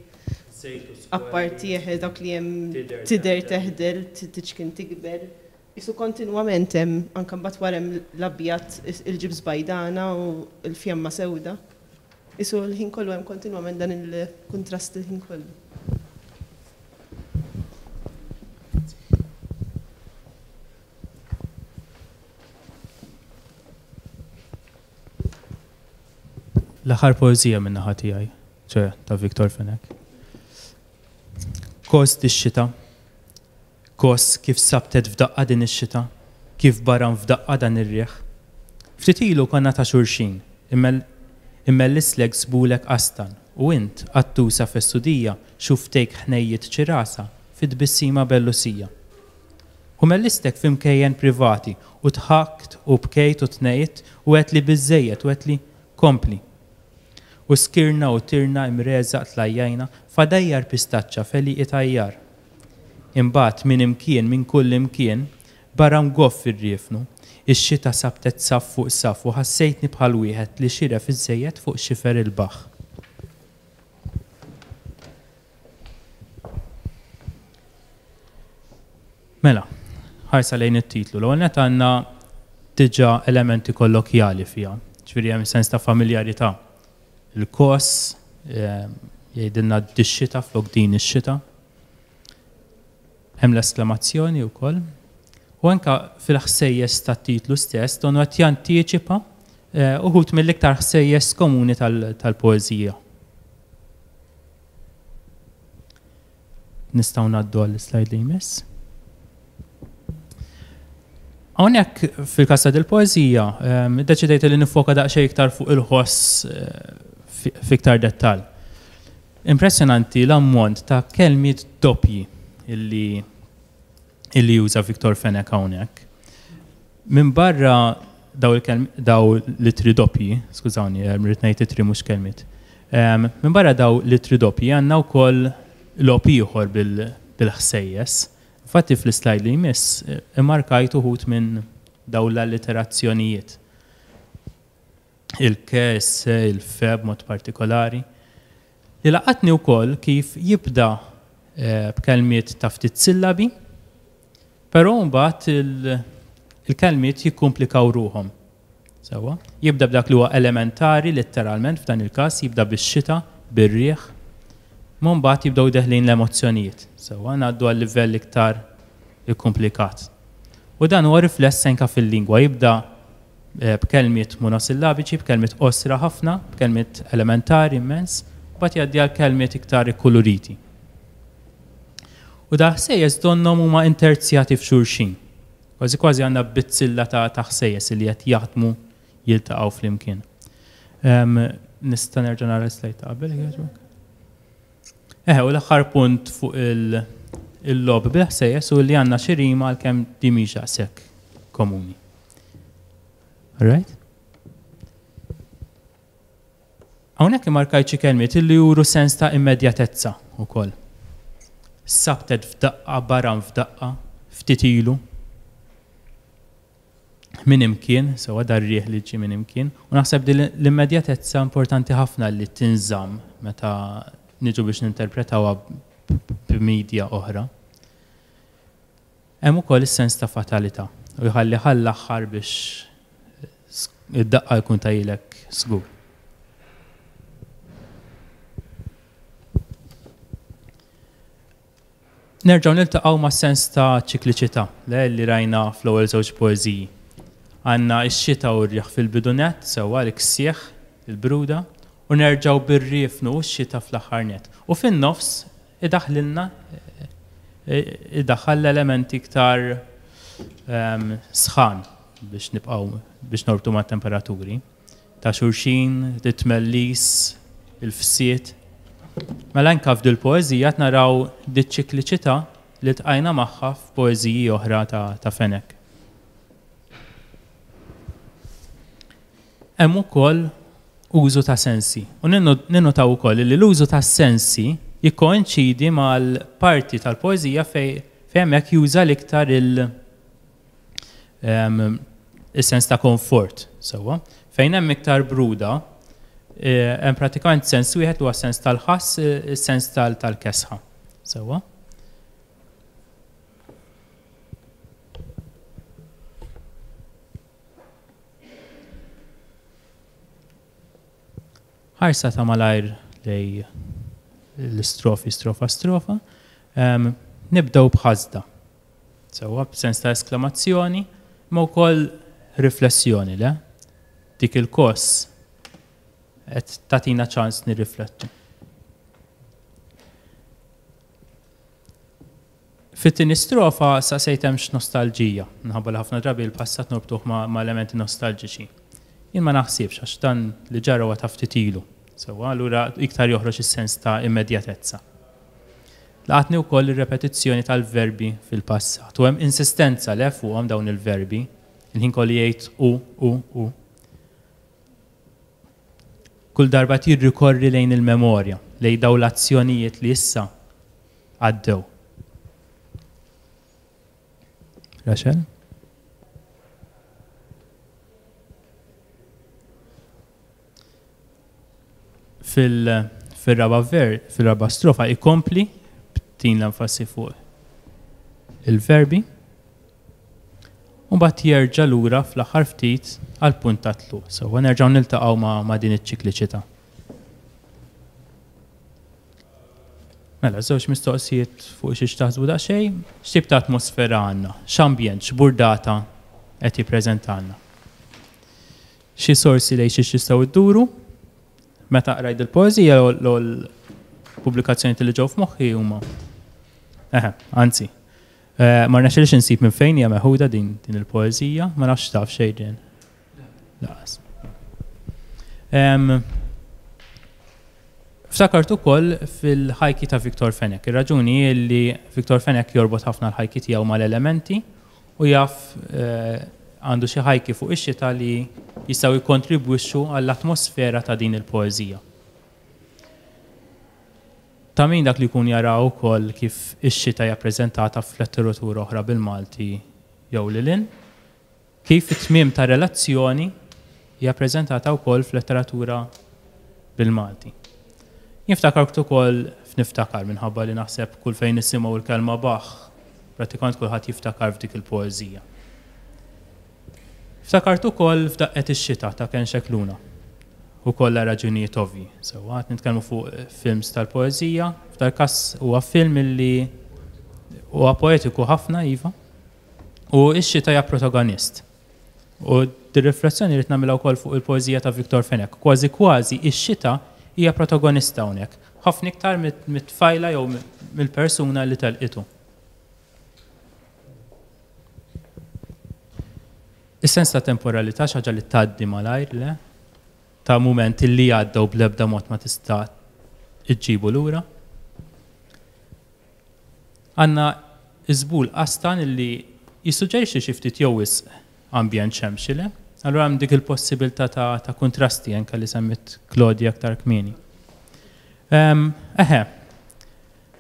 Apparti eħe dawk li hemm tidher teħdel, tiċkien tikber. Qisu kontinwament hemm, anke mbagħad wara hemm l-abjad, il-ġibs bajdana u l-fjamma sewda. Qisu l-ħin kollu hemm kontinwament dan il-kuntrast il-ħin kollu. L-aħħar poeżija min-naħa tiegħi, ċe ta' Victor Fenech. Kos dix-xita. Kos kif sabtet f'daqqa din ix-xita, kif baram f'daqqa dan ir-riħ. Ftit ilu konna ta' xulxin, immellislek żbulek qastan u int, qattusa fessudija, xuftejk ħnejjiet ċirasa fi tbissima bellusija. U mellistek fi mkejjen privati u dħakt u bkejt u tnejt u għedtli biżżejjed u għedtli kompli. U skirna u tirna imreżaq tlajjajna f'għadajjar pistaċċa f'għelieqi tajjar. Imbagħad minn imkien minn kull imkien baram goff ir-riefnu, ix-xita sabtet saff fuq saff u ħassejtni bħal wieħed li xiref iżżejjed fuq xifer il-baħħ. Mela, ħarsa lejn it-titlu. L-ewwel nett għandna diġà elementi kollokjali fiha, ġifieri hemm sens ta' familjarità. Il-kos eh, jgħidilna dix-xita flok din ix-xita. Hemm l-esklamazzjoni wkoll. U anka fil-ħsejjes tat-titlu stess donu qed jantiċipa eh, uħud mill-iktar ħsejjes komuni tal-poeżija. Nistgħu ngħaddu għall-slide li jmiss. Hawnhekk fil-każ ta' dil-poeżija, ehm, iddeċidejt li nifoka daqsxejn iktar fuq il-ħoss eh, fiktar dettall. Impressjonanti l-ammont ta' kelmiet doppji illi illi juża Victor Fenech hawnhekk. Minn barra daw il-kelm daw l-ittri doppji, skużawni, eh, rrid ngħid ittri mhux kelmiet. Ehm, minn barra daw l-ittri doppji għandna wkoll logħob ieħor bil-ħsejjes. Infatti fl-islajd li jmiss eh, immarkajt uħud minn daw l-alliterazzjonijiet. Il-ke, is-se, il-fe b'mod partikolari. Li laqatni wkoll kif jibda eh, b'kelmiet ta' ftit sillabi, però mbagħad il-kelmiet jikkumplikaw ruħhom. Sewwa? Jibda b'dak li huwa elementari letteralment f'dan il-każ, jibda bix-xita, bir-riħ, ma mbagħad jibdew deħlin l-emozzjonijiet. Sewwa, ngħaddu għal livell iktar ikkumplikat. U dan huwa rifless anke fil-lingwa, jibda b'kelmiet monosillabiċi, b'kelmiet qosra ħafna, b'kelmiet elementari immens, mbagħad jgħaddi għal kelmiet iktar ikkuluriti. U da ħsejjes donnhom huma interzjati f'xulxin. Kważi kważi għandna bizzilla ta' ta' ħsejjes li qed jaħdmu jiltaqgħu flimkien. Nista' nerġa' nara l-slide ta' qabel jogħġbok? Eħe, u l-aħħar punt fuq il-logħob bil-ħsejjes u li għandna xi rima għalkemm di mhix daqshekk komuni. All right? Hawnhekk immarkajt xi kelmiet illi juru sens ta' immedjatezza wkoll. Sabtet f'daqqa, baram f'daqqa, ftit ilu. Minn imkien, sewwa dar-riħ li ġie minn imkien, u naħseb din l-immedjatezza importanti ħafna li tinżamm meta niġu biex ninterpretawha b'media oħra. Hemm ukoll is-sens ta' fatalità u jħalli għall-aħħar biex id-daqqa jkun tajilek żgur. Nerġgħu niltaqgħu ma' sens ta' ċikliċità le li rajna fl-ewwel żewġ poeżiji. Għandna x-xita u r-riħ fil-bidu nett, sewwa l-ksieħ, il-bruda, u nerġgħu bir-riefnu u x-xita fl-aħħar nett. U fin-nofs idaħħlilna idaħħal l-elementi iktar ehm, sħan biex nibqgħu biex norbtu mat-temperaturi ta' xulxin, it-tmellis, il-fsied. Mela anke f'dil poeżija qed naraw diċ-ċikliċità li ltqajna magħha f'poeżiji oħra ta', ta Fenech. Hemm ukoll użu ta' sensi. U ninnotaw ukoll li l-użu ta' sensi jikkoinċidi mal-parti tal-poeżija fejn hemmhekk juża l-iktar il- ehm, is-sens ta' komfort, sewwa. Fejn hemm iktar bruda, eh, hemm pratikament sens wieħed huwa sens tal-ħass, eh, is-sens tal-kesħa. Sewwa. Ħarsa ta' malajr lej l-istrofi strofa strofa. Um, nibdew b'ħasda. Sewwa b'sens ta' esklamazzjoni, ma wkoll riflessjoni le. Dik il-koss. Qed tagħtina ċans nirriflettu. Fit-tieni strofa saqsejt hemmx nostalġija, minħabba li ħafna drabi l-passat norbtuh ma' elementi nostalġiċi. Jien ma naħsibx għax dan li ġara huwa ta' ftit ilu. Sewwa, allura iktar joħroġ is-sens ta' immedjatezza. Laqatni wkoll ir-repetizzjoni tal-verbi fil-passat u hemm insistenza le fuqhom dawn il-verbi, il-ħin kollu jgħid u, u, u. Kull darba qed jirrikorri lejn il-memorja, lejn dawn l-azzjonijiet li issa għaddew. Rachel? Fil-raba ver, fil-raba strofa ikompli b'din l-enfasi fuq il-verbi. U mbagħad jerġa' lura fl-aħħar ftit għall-punt ta' tluq. Sewwa nerġgħu niltaqgħu ma', ma' din iċ-ċikliċità. Mela, żewġ mistoqsijiet fuq xiex taħsbu daqsxejn. X'tip ta' atmosfera għandna? X'ambjent, x'burdata qed jippreżentalna? Xi sorsi lejn xiex tistgħu dduru? Meta qrajt il-poeżija l-ewwel pubblikazzjonijiet li ġew f'moħħi huma. Eħe, anzi, eh, ma rnexxilix insib minn fejn hija meħuda din din il-poeżija, ma nafx taf xejn din. Laqas. Ftakart ukoll fil-ħajki ta' Victor Fenech. Ir-raġuni hi li Victor Fenech jorbot ħafna l-ħajki tiegħu mal-elementi u jaf eh, għandu xi ħajki fuq ix-xita li jistgħu jikkontribwixxu għall-atmosfera ta' din il-poeżija. Ta' min dak li jkun jara wkoll kif ix-xita hija ppreżentata f'letteratura oħra bil-Malti jew lil hinn. Kif it-tmiem ta' relazzjoni hija ppreżentata wkoll f'letteratura bil-Malti. Jien ftakart ukoll f'Niftakar minħabba li naħseb kull fejn nisimgħu l-kelma Bach prattikament kulħadd jiftakar f'dik il-poeżija. Ftakart ukoll f'Daqqet ix-Xita ta' Ken Scicluna. Ukoll għal raġunijiet ovvji. Sewwa, qed nitkellmu fuq films tal-poeżija, f'dal-każ huwa film illi huwa poetiku ħafna iva, U x-xita hija protagonist. U dir-riflessjoni rrid nagħmilha wkoll fuq il-poeżija ta' Victor Fenech. Kważi kważi x-xita hija protagonista hawnhekk, ħafna iktar mit-tfajla jew mill-persuna li telqitu. Is-sens ta' temporalità xi ħaġa li tgħaddi malajr, le? Ta' mument li għadda u bl-ebda mod ma tista' ġġibu lura. Għandna żbul qastan illi jissuġġerixxi xi ftit jew wisq ambjent xemxi, le? Allura hemm dik il-possibilità ta', ta kuntrasti anke li semmit Claudia aktar kmieni. Eħe,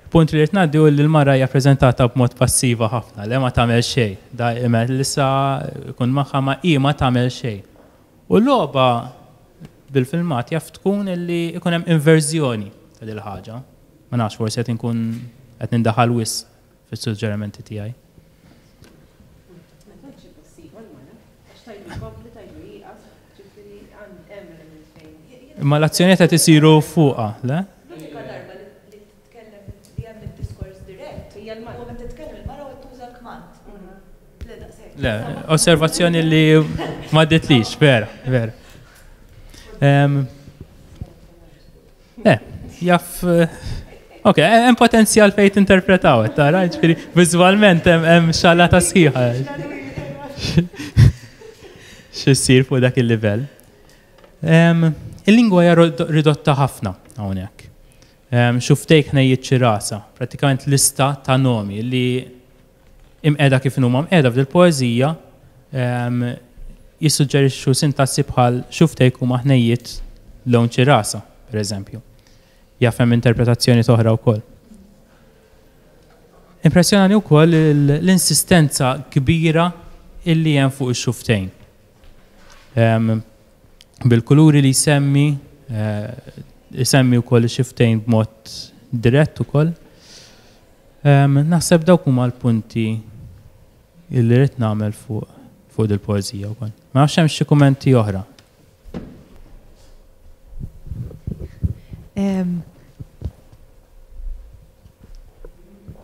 punt li rrid ngħaddi hu li l-mara hija preżentata b'mod passiva ħafna, le ma tagħmel xejn. Da Melissa jkun magħha ma hi ma tagħmel xejn. U l-logħba bil-filmat jaf tkun illi ikun hemm inverżjoni ta' dil ħaġa. Ma nafx, forsi qed inkun qed nindaħal wisq fis-suġġerimenti tiegħi. Imma l-azzjonijiet qed isiru fuqha, le? L-unika darba li titkellem li hemm id-diskors dirett hija l-mara. Meta titkellem il-mara u tuża l-kmand. Le daqshekk. Le, osservazzjoni li ma ditlix, vera, vera. Le, jaf. Ok, hemm potenzjal fejn tinterpretaw, qed tara, ġifieri viżwalment hemm xalata sħiħa. X'issir fuq dak il-livell. Il-lingwa hija ridotta ħafna hawnhekk. Xuftejk ħnejjiet ċirasa, prattikament lista ta' nomi li imqiegħda kif inhuma mqiegħda f'dil-poeżija jissuġġerixxu sintassi bħal xuftejk huma ħnejjiet lewn ċirasa, pereżempju. Jaf hemm interpretazzjonijiet oħra wkoll. Impressjonani wkoll l-insistenza kbira illi hemm fuq ix-xuftejn. Bil-kuluri li jsemmi, isemmi wkoll ix-xuftejn b'mod dirett ukoll. Naħseb dawk huma l-punti illi rrid nagħmel fuq fuq dil-poeżija wkoll. Ma nafx hemm xi kummenti oħra.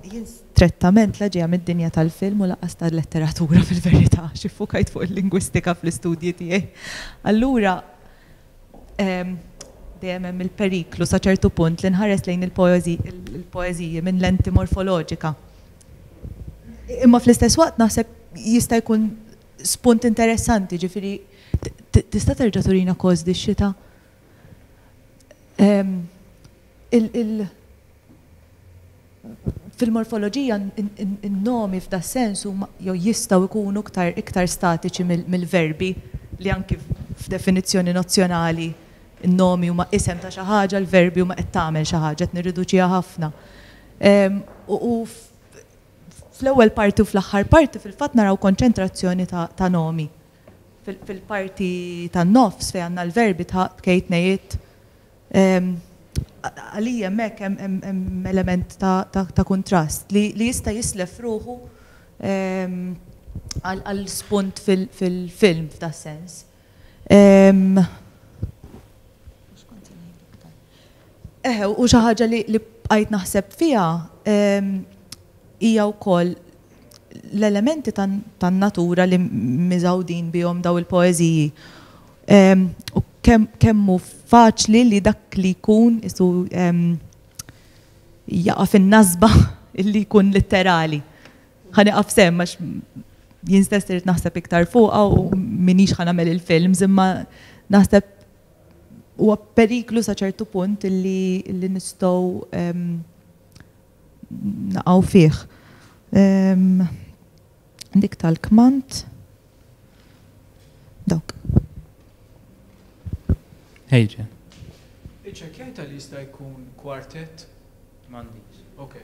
Jien strettament la ġejja mid-dinja tal-film u lanqas tal-letteratura fil-verità, għax iffukajt fuq il-lingwistika fl-istudji tiegħi. Allura. Dejjem hemm il-periklu sa ċertu punt li nħares lejn il-poeżiji minn lenti morfoloġika. Imma fl-istess waqt naħseb jista' jkun spunt interessanti, ġifieri tista' terġa' turina Kos di x-xita? Fil-morfoloġija n-nomi f'da sens huma jew jistgħu jkunu iktar iktar statiċi mill-verbi li anki f'definizzjoni nozzjonali n-nomi huma isem ta' xi ħaġa, l-verbi huma qed tagħmel xi ħaġa, qed nirriduċiha ħafna. U fl-ewwel parti u fl-aħħar parti fil-fatt naraw konċentrazzjoni ta' nomi. Fil-parti tan-nofs fejn għandna l-verbi tħaqt, bkejt, ngħidt, Għalija hemmhekk hemm element ta' kuntrast li jista' jislef ruħu għal spunt fil-film f'da sens. Eħe, u xi ħaġa li bqajt naħseb fiha hija wkoll l-elementi tan-natura li miżgħudin bihom daw il-poeżiji. U kemm hu faċli li dak li jkun isu jaqa' fin-nasba li jkun litterali. Ħa nieqaf s'hemm għax jien stess irid naħseb iktar fuqha u m'iniex ħa nagħmel il-films imma naħseb huwa periklu sa ċertu punt illi nistgħu naqgħu fih. Dik tal-kmand. Dawk. Ejġen. Iċċekkjajta li jista' jkun kwartett? M'għandix. Ok.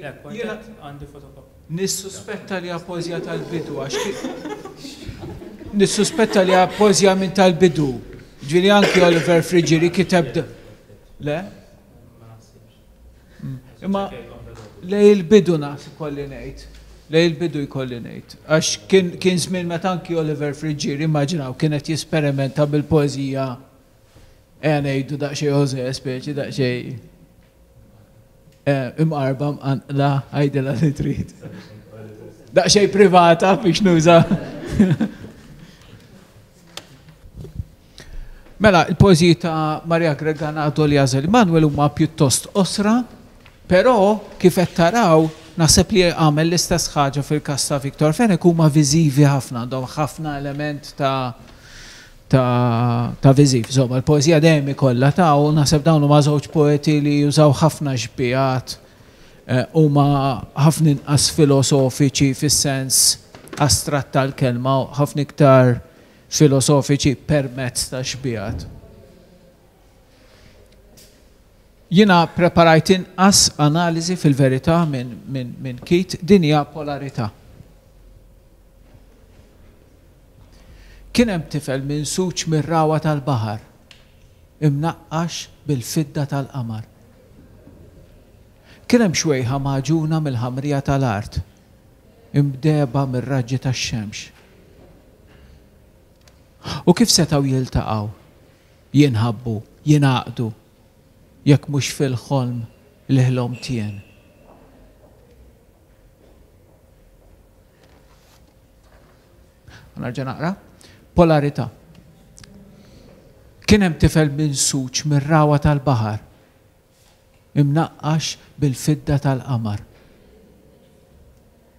Le, kwartett għandi fotokopja. Nissuspetta li hija poeżija tal-bidu għax Nissuspetta li hija poeżija minn tal-bidu. Ġifieri anki Oliver Friggieri kiteb Le? Imma lej il-bidu naħseb ikolli ngħid. Lej il-bidu jkolli ngħid. Għax kien żmien meta anki Oliver Friggieri, immaġinaw, kien qed jesperimenta bil-poeżija ejja ngħidu daqsxejn José, speċi daqsxejn imqarba mqanqla, għidilha li trid. Daqsxejn privata biex nuża. Mela, il-poeżiji ta' Maria Greganado li għażel Immanuel huma pjuttost qosra, però kif qed taraw naħseb li għamel l-istess ħaġa fil-każ ta' Victor Fenech huma viżivi ħafna, għandhom ħafna element ta' ta' ta' viżiv. Insomma, l-poeżija dejjem ikollha ta' u naħseb dawn huma żewġ poeti li jużaw ħafna xbihat huma ħafna inqas filosofiċi fis-sens astratt tal-kelma u ħafna iktar filosofiċi permezz ta' xbihat. Jiena preparajt inqas analiżi fil-verità minn min, min Keith, din hija polarità. Kien hemm tifel minsuġ mir-ragħwa tal-baħar, imnaqqax bil-fidda tal-qamar. Kien hemm xwejħa magħġuna mill-ħamrija tal-art, imdehba mir-raġġi tax-xemx. U kif setgħu jiltaqgħu, jinħabbu, jingħaqdu, jekk mhux fil-ħolm li ħlomt jien? Nerġa' naqra. Polarità. Kien hemm tifel minsuġ mir-ragħwa tal-baħar. Imnaqqax bil-fidda tal-qamar.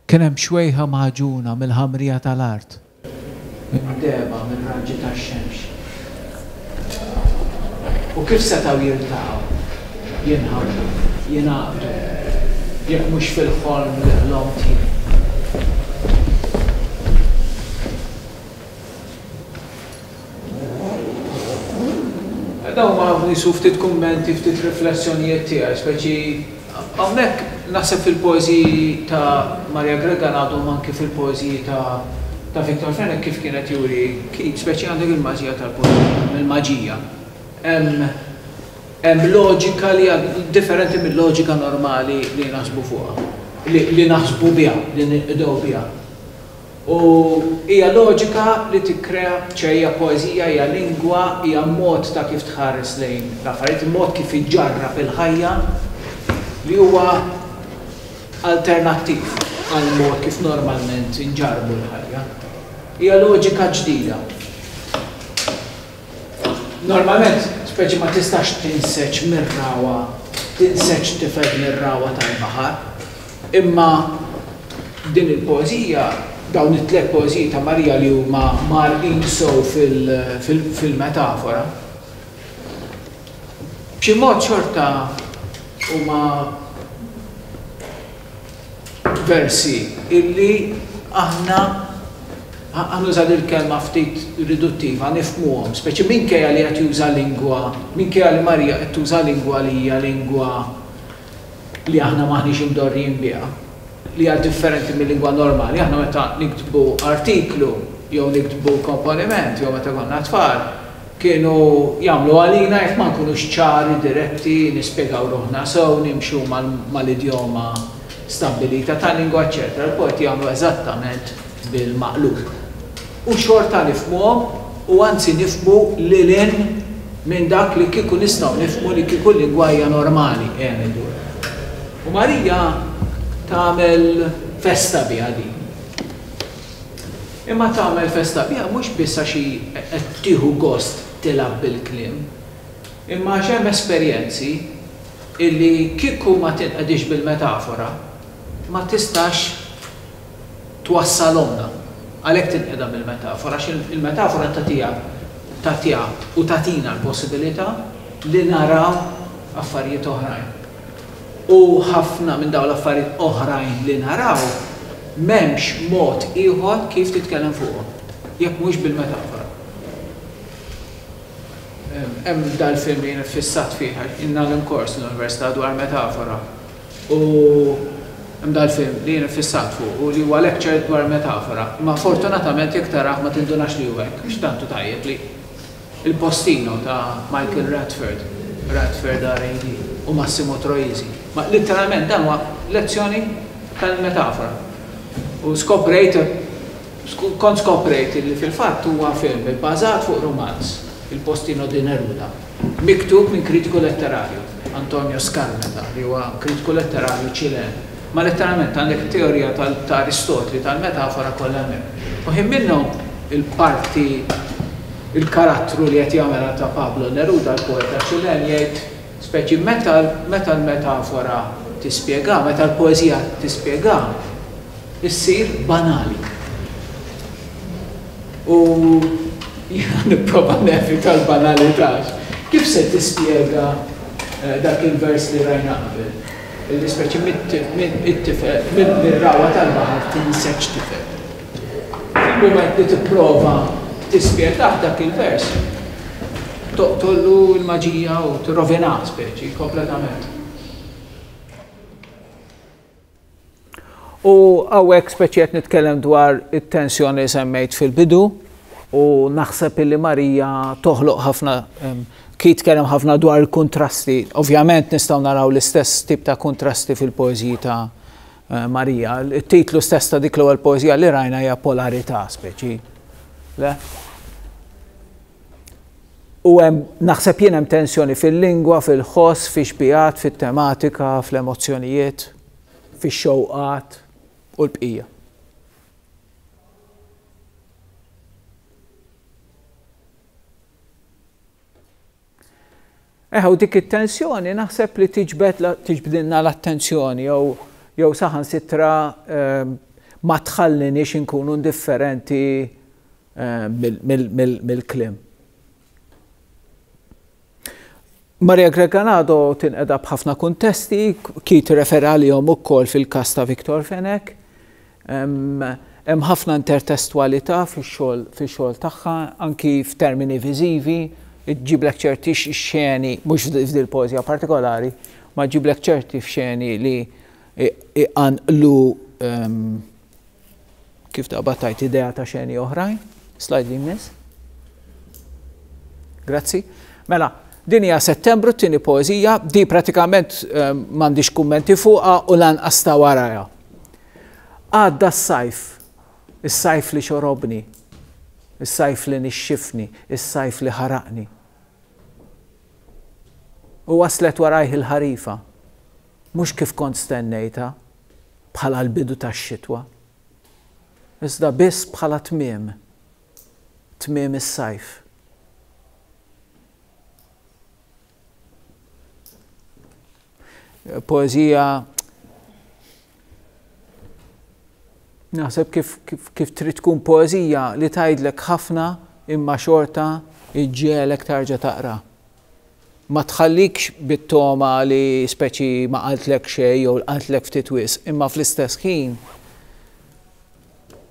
Kien hemm xwejħa magħġuna mill-ħamrija tal-art. Imdehba mir-raġġi tax-xemx. U kif setgħu jiltaqgħu, jinħabbu, jingħaqdu, jekk mhux fil-ħolm li ħlomt jien? Dawn huma qisu ftit kummenti, ftit riflessjonijiet tiegħi, speċi hawnhekk naħseb fil-poeżiji ta' Maria Gregan għadhom anki fil-poeżiji ta' ta' Victor Fenech kif kien qed juri Keith, speċi għandek il-maġija tal-poeżija, il-maġija. Hemm hemm loġika li hija differenti mil-loġika normali li naħsbu fuqha, li naħsbu biha, li ninqdew biha. U hija loġika li tikkrea, ċe hija poeżija, hija lingwa, hija mod ta' kif tħares lejn l-affarijiet, mod kif iġġarrab il-ħajja li huwa alternattiv għall-mod kif normalment inġarrbu l-ħajja. Hija loġika ġdida. Normalment. Speċi ma tistax tinseġ mir-ragħwa, tinseġ tifel mir-ragħwa tal-baħar. Imma din il-poeżija, dawn it-tlett poeżiji ta' Marija li huma mgħarrqin sew fil-metafora, b'xi mod xorta huma versi illi aħna, ħa nuża dil-kelma ftit riduttiva, nifhmuhom, speċi minkejja li qed juża lingwa, minkejja li Marija qed tuża lingwa li hija lingwa li aħna m'aħniex imdorrijin biha, li hija differenti mil-lingwa normali. Aħna meta niktbu artiklu jew niktbu komponiment jew meta konna tfal, kienu jagħmlu għalina jekk ma nkunux ċari, diretti, nispjegaw ruħna sew, nimxu mal-idjoma stabbilita tal-lingwa eċċetera Il-poeti jagħmlu eżattament bil-maqlub. U xorta nifhmuhom u anzi nifhmu lil hinn minn dak li kieku nistgħu nifhmu li kieku l-lingwa hija normali, qiegħed ngħidu hekk. U Marija tagħmel festa biha din. Imma tagħmel festa biha mhux biss għax hi qed tieħu gost tilgħab bil-kliem, imma għax hemm esperjenzi illi kieku ma tinqedix bil-metafora ma tistax twassalhomlna. Għalhekk tinqeda bil-metafora għax il-metafora tagħtiha tagħtiha u tagħtina l-possibilità li naraw affarijiet oħrajn. U ħafna minn dawn l-affarijiet oħrajn li naraw m'hemmx mod ieħor kif titkellem fuqhom jekk mhux bil-metafora. Hemm dal-film li jien iffissat fih għax jien ngħallem kors l-università dwar metafora u hemm dal-film li jien iffissat fuqu li huwa lecture dwar metafora. Imma fortunatament jekk tarah ma tindunax li hu hekk għax tant hu tajjeb li Il Postino ta' Michael Radford, Radford RAD, u Massimo Troisi. Ma litteralment dan huwa lezzjoni tal-metafora. U skoprejt, kont skoprejt li fil-fatt huwa film ibbażat fuq rumanz, Il Postino di Neruda, miktub minn kritiku letterarju, Antonio Skármeta, li huwa kritiku letterarju Ċilen. Ma letteralment għandek it-teorija ta' Aristotli tal-metafora kollha hemmhekk. U ħin minnhom il-parti Il-karattru li qed jagħmilha ta' Pablo Neruda, l-poeta Ċilen, jgħid speċi meta meta l-metafora tispjega, meta l-poeżija tispjega, issir banali. U jiena nipprova nevita l-banalità għax kif se tispjega dak il-vers li rajna qabel? Illi speċi mit-tifel, mir-ragħwa tal-baħar tinseġ tifel. Fil-mument li tipprova tispjegah dak il-vers, toqtollu l-maġija u tirrovinah speċi kompletament. U hawnhekk speċi qed nitkellem dwar it-tensjoni li semmejt fil-bidu u naħseb illi Marija toħloq ħafna Keith tkellem ħafna dwar il-kuntrasti. Ovvjament nistgħu naraw l-istess tip ta' kuntrasti fil-poeżiji ta' Marija. It-titlu stess ta' dik l-ewwel poeżija li rajna hija Polarità, speċi. Le? U hemm naħseb jien hemm tensjoni fil-lingwa, fil-ħoss, fix-xbigħat, fit-tematika, fl-emozzjonijiet, fix-xewqat u l-bqija. Eħe, u dik it-tensjoni naħseb li tiġbed tiġbdilna l-attenzjoni jew jew saħansitra ehm, ma tħalliniex inkunu indifferenti ehm, mill-kliem. Maria Greganado tinqeda b'ħafna kuntesti, Keith refera għalihom ukoll fil-każ ta' Victor Fenech. Hemm ħafna intertestwalità fix-xogħol fix-xogħol tagħha, anki f'termini viżivi, iġġiblek ċerti xeni, mhux f'dil-poeżija partikolari, ma ġġiblek ċerti xeni li iqanqlu kif taqbad tgħid idea ta' xeni oħrajn. Slide li jmiss. Grazzi. Mela, din hija Settembru t-tieni poeżija, di pratikament m'għandix kummenti fuqha u lanqas ta' warajha. Għadda s-sajf, is-sajf li xorobni, is-sajf li nixxifni, is-sajf li ħaraqni. U waslet warajh il-ħarifa, mhux kif kont stennejtha, bħala l-bidu tax-xitwa, iżda biss bħala tmiem, tmiem is-sajf. Poeżija naħseb kif, kif, kif trid tkun poeżija li tgħidlek ħafna imma xorta iġġiegħlek tarġa' taqra. Ma tħallikx bit-togħma li speċi ma qaltlek xejn jew qaltlek ftit wisq, imma fl-istess ħin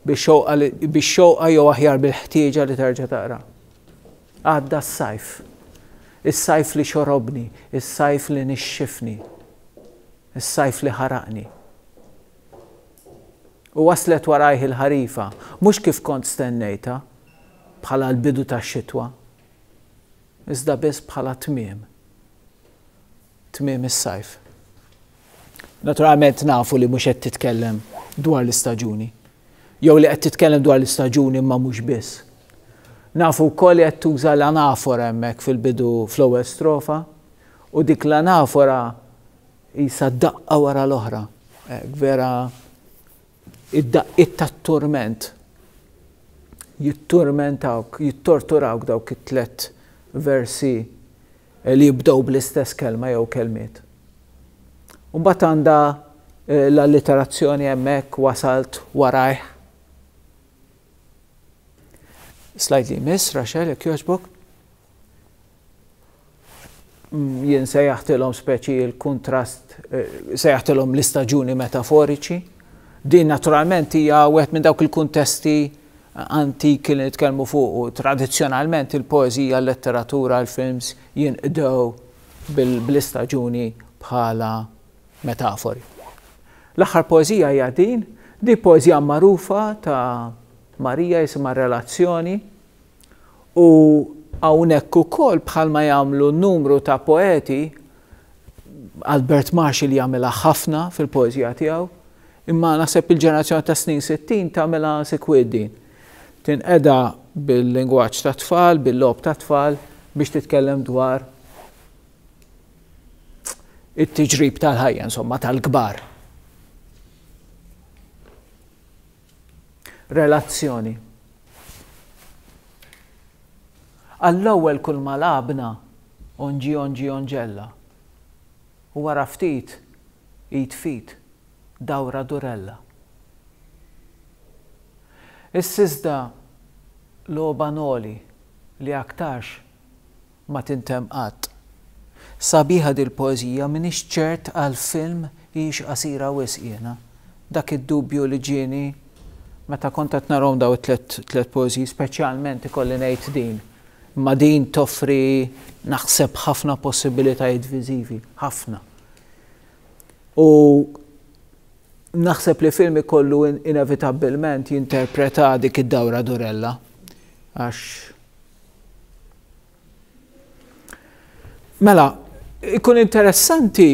bix-xewqa bix-xewqa jew aħjar bil-ħtieġa li terġa' taqra. Għadda s-sajf. Is-sajf li xorobni, is-sajf li nixxifni, is-sajf li ħaraqni. U waslet warajh il-ħarifa, mhux kif kont stennejtha, bħala l-bidu tax-xitwa, iżda biss bħala tmiem. Tmiem is-sajf. Naturalment nafu li mhux qed titkellem dwar l-istaġuni. Jew li qed titkellem dwar l-istaġuni imma mhux biss. Nafu wkoll li qed tuża l-anafora hemmhekk fil-bidu fl-ewwel strofa u dik l-anafora qisha daqqa wara l-oħra. Vera id-daqqiet tat-turment jitturmentawk, jittorturawk dawk it-tlett versi li jibdew bl-istess kelma jew kelmiet. U mbagħad għandha l-alliterazzjoni hemmhekk wasalt warajh. Slide li jmiss, Rachel, jekk jogħġbok. Jien sejjaħtilhom speċi l-kuntrast, sejjaħtilhom l-istaġuni metaforiċi. Din naturalment hija wieħed minn dawk il-kuntesti antiki li nitkellmu fuqu. Tradizzjonalment il-poeżija, l-letteratura, il-films jinqdew bl-istaġuni bħala metafori. L-aħħar poeżija hija din, di poeżija magħrufa ta' Marija jisimha Relazzjoni. U hawnhekk ukoll bħalma jagħmlu numru ta' poeti, Albert Marshall jagħmilha ħafna fil-poeżija tiegħu, imma naħseb il-ġenerazzjoni tas-snin 60 tagħmilha sikwit din. Tinqeda bil-lingwaġġ tat-tfal, bil-logħob tat-tfal biex titkellem dwar it-tiġrib tal-ħajja, insomma, tal-kbar. Relazzjoni. Għall-ewwel kulma lagħabna onġi onġi onġella. U wara ftit, id f'id, dawra durella. Issa iżda logħba noli li aktarx ma tintemm qatt. Sabiħa dil-poeżija m'iniex ċert għal film hijiex qasira wisq jiena. Dak id-dubju li ġieni meta kont qed narahom dawn it-tliet tliet poeżiji speċjalment ikolli ngħid din. Imma din toffri naħseb ħafna possibilitajiet viżivi, ħafna. U naħseb li film ikollu inevitabbilment jinterpreta dik id-dawra durella għax Mela, ikun interessanti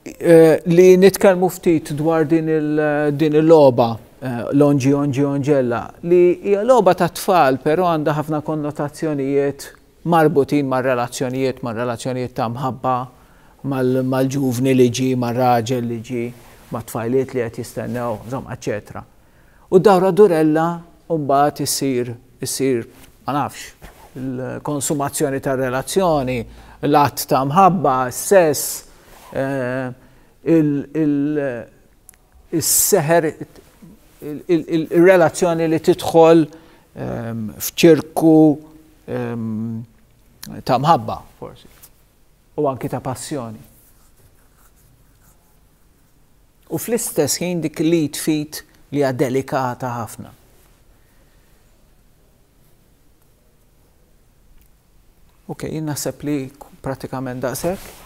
eh, li nitkellmu ftit dwar din il-logħba eh, Longi Ongi Ongella li hija logħba ta' tfal però għandha ħafna konnotazzjonijiet marbutin ma' relazzjonijiet, ma' relazzjonijiet ta' mħabba, mal-ġuvni li ġi, mar-raġel li ġi, ma' tfajliet li qed jistennew, insomma, eċetera. U d-dawra durella mbagħad issir issir ma nafx, il-konsumazzjoni tar-relazzjoni, l-att ta' mħabba, s-sess, is-seħer, il-relazzjoni li tidħol f'ċirku ta' mħabba, forsi, u anki ta' passjoni. U fl-istess ħin dik l-id f'id li hija delikata ħafna. Ok, jien naħseb li pratikament daqshekk.